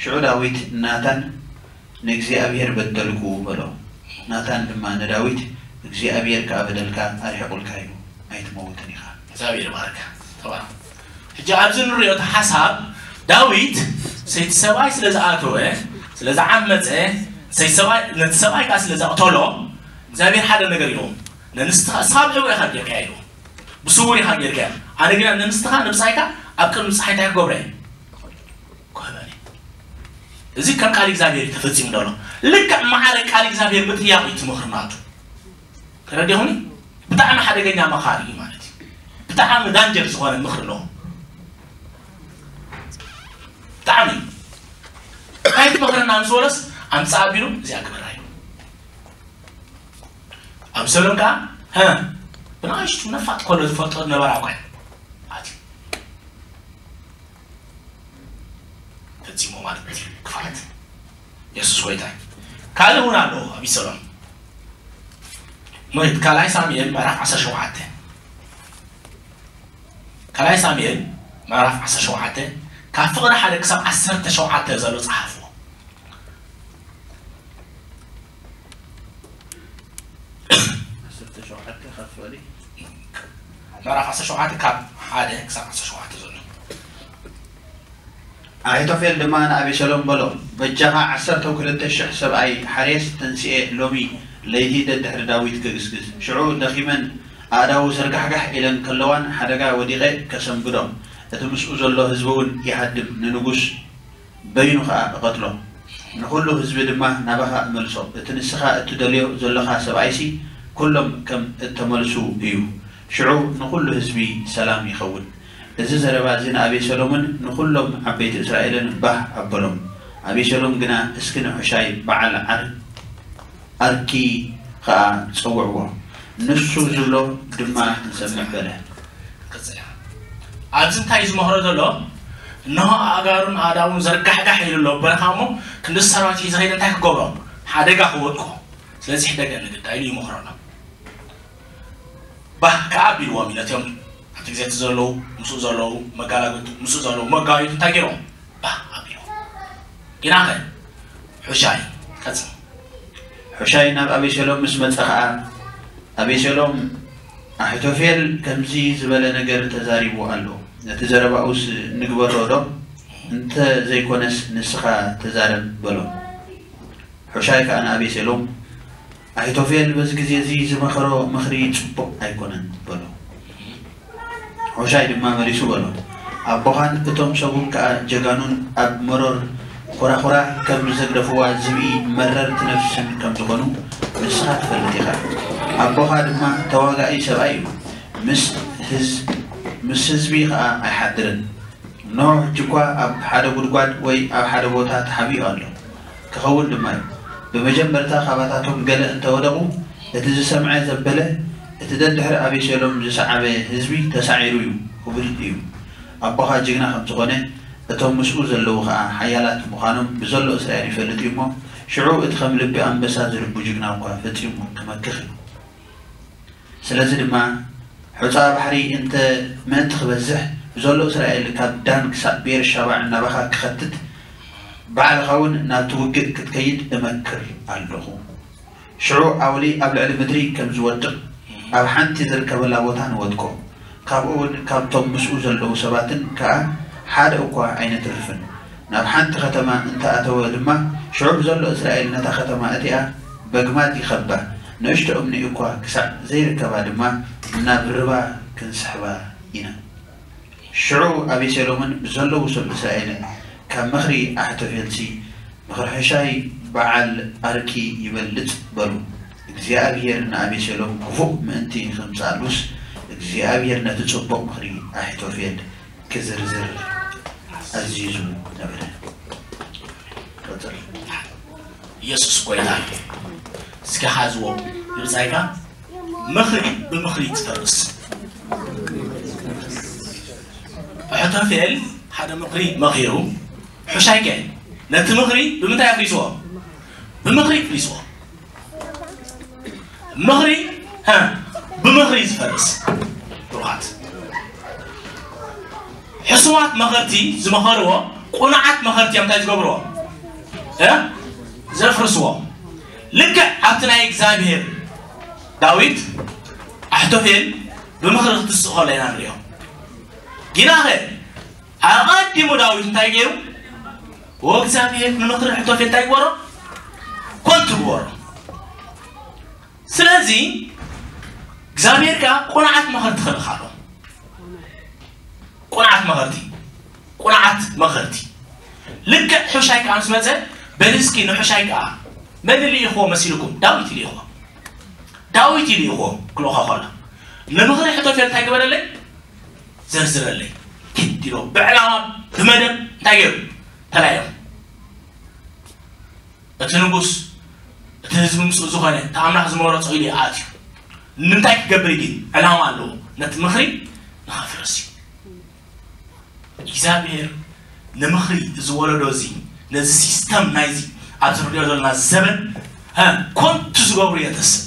ሽዑ ዳዊት ንናታን ንእግዚኣብሔር በደልኩ በሎ። ናታን ድማ ንዳዊት እግዚኣብሔር ከኣ በደልካ ኣርሒቑልካ እዩ፣ ኣይትመውትን ኢኻ። እግዚኣብሔር ይባርካ። ተባረኽ። ሕጂ ኣብዚ ንሪኦ እቲ ሓሳብ ዳዊት ሰይቲ ሰብኣይ ስለ ዝኣተወ ስለ ዝዓመፀ ሰይቲ ሰብኣይ ነቲ ሰብኣይ ከኣ ስለ ዘቕተሎ እግዚኣብሔር ሓደ ነገር ኢልዎ ነንስትኻ ሳብ ዕወ ኢኻ ጌርካያ ኢልዎ ብስውር ኢኻ ጌርካያ ኣነ ግና ነንስትኻ ንብጻይካ ኣብ ቅድሚ ፀሓይ እንታይ ክገብረ እየ ክህበኒ እዚ ከም ቃል እግዚኣብሔር እዩ ተፈጺሙ ዘሎ። ልክዕ ማዕረ ቃል እግዚኣብሔር ምጥያቕ እዩ ትምኽሪ ናቱ። ተረዲኹኒ? ብጣዕሚ ሓደገኛ መኻሪ እዩ ማለት እዩ። ብጣዕሚ ዳንጀር ዝኾነ ምኽሪ ኣለዎ። ብጣዕሚ እንታይ ትመኽረና ምስ በሎስ ኣምፅእ ኣቢሉ እዚኣ ግበራ እዩ። ኣምሰሎም ከዓ ሀ ብንኣሽቱ ነፋጥ ከሎ ዝፈልጦ ነበራ እኳ እዩ ኣትዩ። ፈጺሞ ማለት እዩ ክፍኣት የሱስ ጎይታ እዩ። ካልእ እውን ኣለዎ ኣብ ኢሰሎም ምሪት ካልኣይ ሳሙኤል ምዕራፍ ዓሰርተ ሸውዓተ ካልኣይ ሳሙኤል ምዕራፍ ዓሰርተ ሸውዓተ ካብ ፍቕሪ ሓደ ክሳብ ዓሰርተ ሸውዓተ ዘሎ ጸሓፍዎ። ዓሰርተ ሸውዓተ ካብ ፍቕሪ ምዕራፍ ዓሰርተ ሸውዓተ ካብ ሓደ ክሳብ ዓሰርተ ሸውዓተ ዘሎ። ኣሒቶፌል ድማ ንኣቤሴሎም በሎ፣ በጃኻ ዓሰርተ ክልተ ሽሕ ሰብኣይ ሓሬስ ተንሲኤ ሎሚ ለይቲ ደድሕሪ ዳዊት ክግስግስ። ሽዑ ደኺመን ኣእዳዉ ዘርጋሕጋሕ ኢለን ከለዋን ሓደጋ ወዲቐ ከሰንብዶ፣ እቲ ምስኡ ዘሎ ህዝቢ እውን ይሃድም፣ ንንጉስ በይኑ ኸኣ እቐትሎ፣ ንኹሉ ህዝቢ ድማ ናባኻ እመልሶ። እቲ ንስኻ እትደልዮ ዘሎኻ ሰብኣይሲ ኩሎም ከም እተመልሱ እዩ። ሽዑ ንኹሉ ህዝቢ ሰላም ይኸውን። እዚ ዘረባ እዚ ንኣቤሴሎምን ንኹሎም ዓበይቲ እስራኤልን ባህ ኣበሎም። ኣቤሴሎም ግና፣ እስኪ ንሑሻይ በዓል ዓር ኣርኪ ኸኣ ጸውዕዎ፣ ንሱ ዝብሎ ድማ ንሰምዕ በለ። ክቕጽል እያ። ኣብዚ እንታይ እዩ ዝመኽሮ ዘሎ? እነሆ ኣእጋሩን ኣእዳዉን ዘርጋሕጋሕ ኢሉ ኣሎ በረኻ እሞ፣ ክንዲ ሰራዊት ሒዘ ከይደ እንታይ ክገብሮ? ሓደጋ ክወድቆ። ስለዚ ሕደገኒ ግዳ ኢሉ ይመኽሮ ኣሎ። ባህ ከኣ ኣቢልዎም እዩ ነቲኦም ኣብቲ ግዜ እቲ ዘለዉ፣ ምስኡ ዘለዉ መጋላግልቱ፣ ምስኡ ዘለዉ መጋቢቱ እንታይ ገይሮም? ባህ ኣቢልዎም። ጊናኸ? ሑሻይ፣ ቀጽል። ሑሻይ ናብ ኣቤሴሎም ምስ መጸ ኸኣ፣ ኣቤሴሎም፣ ኣሒቶፌል ከምዚ ዝበለ ነገር ተዛሪቡ ኣሎ፣ ነቲ ዘረባኡስ ንግበሮ ዶ? እንተ ዘይኮነስ ንስኻ ተዛረብ፣ በሎ። ሑሻይ ከኣ ንኣቤሴሎም፣ ኣሒቶፌል በዚ ግዜ እዚ ዝመኸሮ ምኽሪ ጽቡቕ ኣይኮነን፣ በሎ። ሑሻይ ድማ መሊሱ በሎ፣ ኣቦኻን እቶም ሰቡን ከኣ ጀጋኑን ኣብ መሮር ኮራኹራ ከም ዘግደፍዋ ዝብኢ መረርቲ ነፍስን ከም ዝኾኑ ንስኻ ትፈልጥ ኢኻ። ኣቦኻ ድማ ተዋጋኢ ሰብኣይ እዩ፣ ምስ ህዝ-፣ ምስ ህዝቢ ኸኣ ኣይሓድርን። እነሆ፣ ሕጂ እኳ ኣብ ሓደ ጒድጓድ ወይ ኣብ ሓደ ቦታ ተሓቢኡ ኣሎ። ክኸውን ድማ እዩ። ብመጀመርታ፣ ካባታቶም ገለ እንተ ወደቑ፣ እቲ ዝሰምዐ ዘበለ፣ እቲ ደድሕሪ ኣቤሴሎም ዝሰዓበ ህዝቢ ተሳዒሩ እዩ፣ ክብል እዩ። ኣቦኻ ጅግና ከም ዝኾነ፣ እቶም ምስኡ ዘለዉ ኸኣ ሓያላት ምዃኖም ብዘሎ እስራኤል ይፈልጥ እዩ እሞ፣ ሽዑ እቲ ከም ልቢ ኣንበሳ ዝልቡ ጅግና እኳ ፈጺሙ ክመክኽ እዩ። ስለዚ ድማ፣ ሑጻ ባሕሪ እንተ ምእንቲ ክበዝሕ፣ ብዘሎ እስራኤል ካብ ዳን ክሳብ ቤርሻባ እናባኻ ክኸትት፣ ባዕልኻ እውን ናብቲ ውግእ ክትከይድ እመክር ኣለኹ። ሽዑ ኣውሊ ኣብ ልዕሊ ምድሪ ከም ዝወድቕ፣ ኣብ ሓንቲ ዝርከበላ ቦታ ንወድቆ። ካብኡ እውን ካብቶም ምስኡ ዘለዉ ሰባትን ከኣ ሓደ እኳ ኣይነትርፍን። ናብ ሓንቲ ከተማ እንተ ኣተወ ድማ፣ ሽዑ ብዘሎ እስራኤል ነታ ከተማ እቲኣ በግማት ይኸባ፣ ንእሽቶ እምኒ እኳ ክሳዕ ዘይርከባ ድማ፣ ናብ ርባ ክንስሕባ ኢና። ሽዑ ኣቤሴሎምን ብዘለዉ ሰብ እስራኤልን፣ ካብ ምኽሪ ኣሕቶፌልሲ ምኽሪ ሑሻይ በዓል ኣርኪ ይበልጽ፣ በሉ። እግዚኣብሄር ንኣቤሴሎም ክፉእ ምእንቲ ኸምጽኣሉስ፣ እግዚኣብሄር ነቲ ጽቡቕ ምኽሪ ኣሒቶፌል ክዝርዝር ኣዚዙ ነበረ። ቀጽል። ኢየሱስ ጎይታ እዩ። እስኪ ሓዝዎ ንብጻይካ፣ ምኽሪ ብምኽሪ ትፈርስ። ኣሕቶፌል ሓደ ምኽሪ መኺሩ፣ ሑሻይ ከ ነቲ ምኽሪ ብምንታይ ኣፍሪስዎ? ብምኽሪ ኣፍሪስዎ። ምኽሪ፣ ሀ፣ ብምኽሪ ዝፈርስ። ብሩኻት። ሕሱማት መኸርቲ ዝመኸርዎ፣ ቁኑዓት መኸርቲ እዮም እንታይ ዝገብርዎ? እ? ዘፍርስዎ። ልክዕ ኣብቲ ናይ እግዚኣብሔር ዳዊት ኣሕቶፌል ብምኽሪ ክትስእ ከሎ ኢና ንሪኦ። ጊናኸ ኣቐዲሙ ዳዊት እንታይ ገይሩ? ወእግዚኣብሔር ንምኽሪ ኣሕቶፌል እንታይ ግበሮ? ኮንቱ ግበሮ። ስለዚ እግዚኣብሔር ከኣ ቁኑዓት መኸርቲ ክልእኽ ኣሎ። ቁኑዓት መኸርቲ፣ ቁኑዓት መኸርቲ። ልክዕ ሑሻይ ከኣ ምስ መጸ፣ በል እስኪ ንሑሻይ ከኣ መን ልኢኽዎ መሲልኩም? ዳዊት ልኢኽዎ። ዳዊት ልኢኽዎ ክልእኾ ከሎ፣ ንምኽሪ ኣሕቶፌል እንታይ ግበረለይ? ዘርዝረለይ። ግድ ኢሎ ብዕላማ ብመደብ እንታይ ገይሩ? ተላኢኹ። እቲ ንጉስ፣ እቲ ህዝቢ ምስኡ ዝኾነ፣ እቲ ኣምላኽ ዝመረጾ ኢሉ ይኣትዩ። ንምንታይ ክገብር ግን? ዕላማ ኣለዎ። ነቲ ምኽሪ ንኸፍርስ እዩ። እግዚኣብሔር ንምኽሪ እዚ ወለዶ እዚ፣ ነዚ ሲስተም ናይዚ ኣብዚ ንሪኦ ዘለና ዘበን፣ ሀ፣ ኮንቱ ዝገብሩ የተስእ።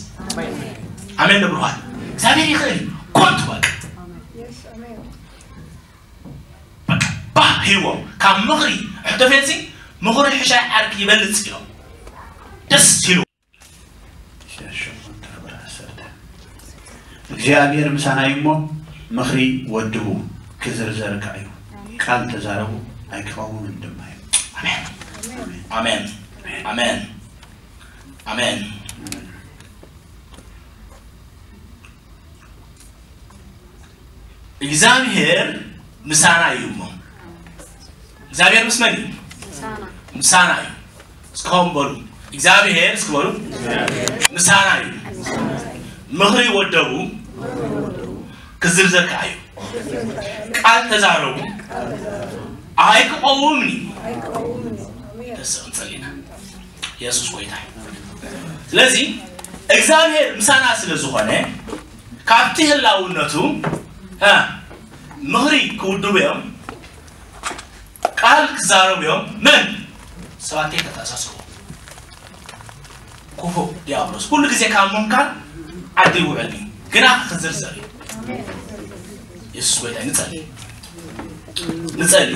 ኣሜን ዶ ብሩኻት? እግዚኣብሔር ይኽእል እዩ። ኮንቱ በቃ። በቃ ባህ ሂዎም። ካብ ምኽሪ ኣሕቶፌልሲ ምኽሪ ሑሻይ ዓርኪ ይበልጽ ኢሎም። ደስ ኢሉ። ኢሳያስ ሸሞንተ ቁጥሪ ዓሰርተ። እግዚኣብሔር ምሳና እዩ እሞ ምኽሪ ወድቡ ክዝርዘር ከኣ እዩ። ቃል ተዛረቡ ኣይክቐውምን ድማ እዩ። ኣሜን። ኣሜን። ኣሜን። ኣሜን። እግዚኣብሔር ምሳና እዩ እሞ። እግዚኣብሔር ምስ መን እዩ? ምሳና። ምሳና እዩ። እስኪ ኸም በሉ። እግዚኣብሔር እስኪ በሉ። ምሳና እዩ። ምኽሪ ወደቡ ክዝርዘር ከኣ እዩ። ቃል ተዛረቡ ኣይክቐውምን እዩ። ደስ እንጸሊና። ኢየሱስ ጎይታ እዩ። ስለዚ እግዚኣብሔር ምሳና ስለ ዝኾነ ካብቲ ህላውነቱ፣ እ፣ ምኽሪ ክውድቡ እዮም። ቃል ክዛረቡ እዮም። መን ሰባት ከተኣሳስሩ ክፉእ ዲያብሎስ ኩሉ ግዜ ካብ ምምካር ዓዲ ይውዕል እዩ። ግና ክዝርዘር እዩ። የሱስ ጎይታ ንጸሊ ንጸሊ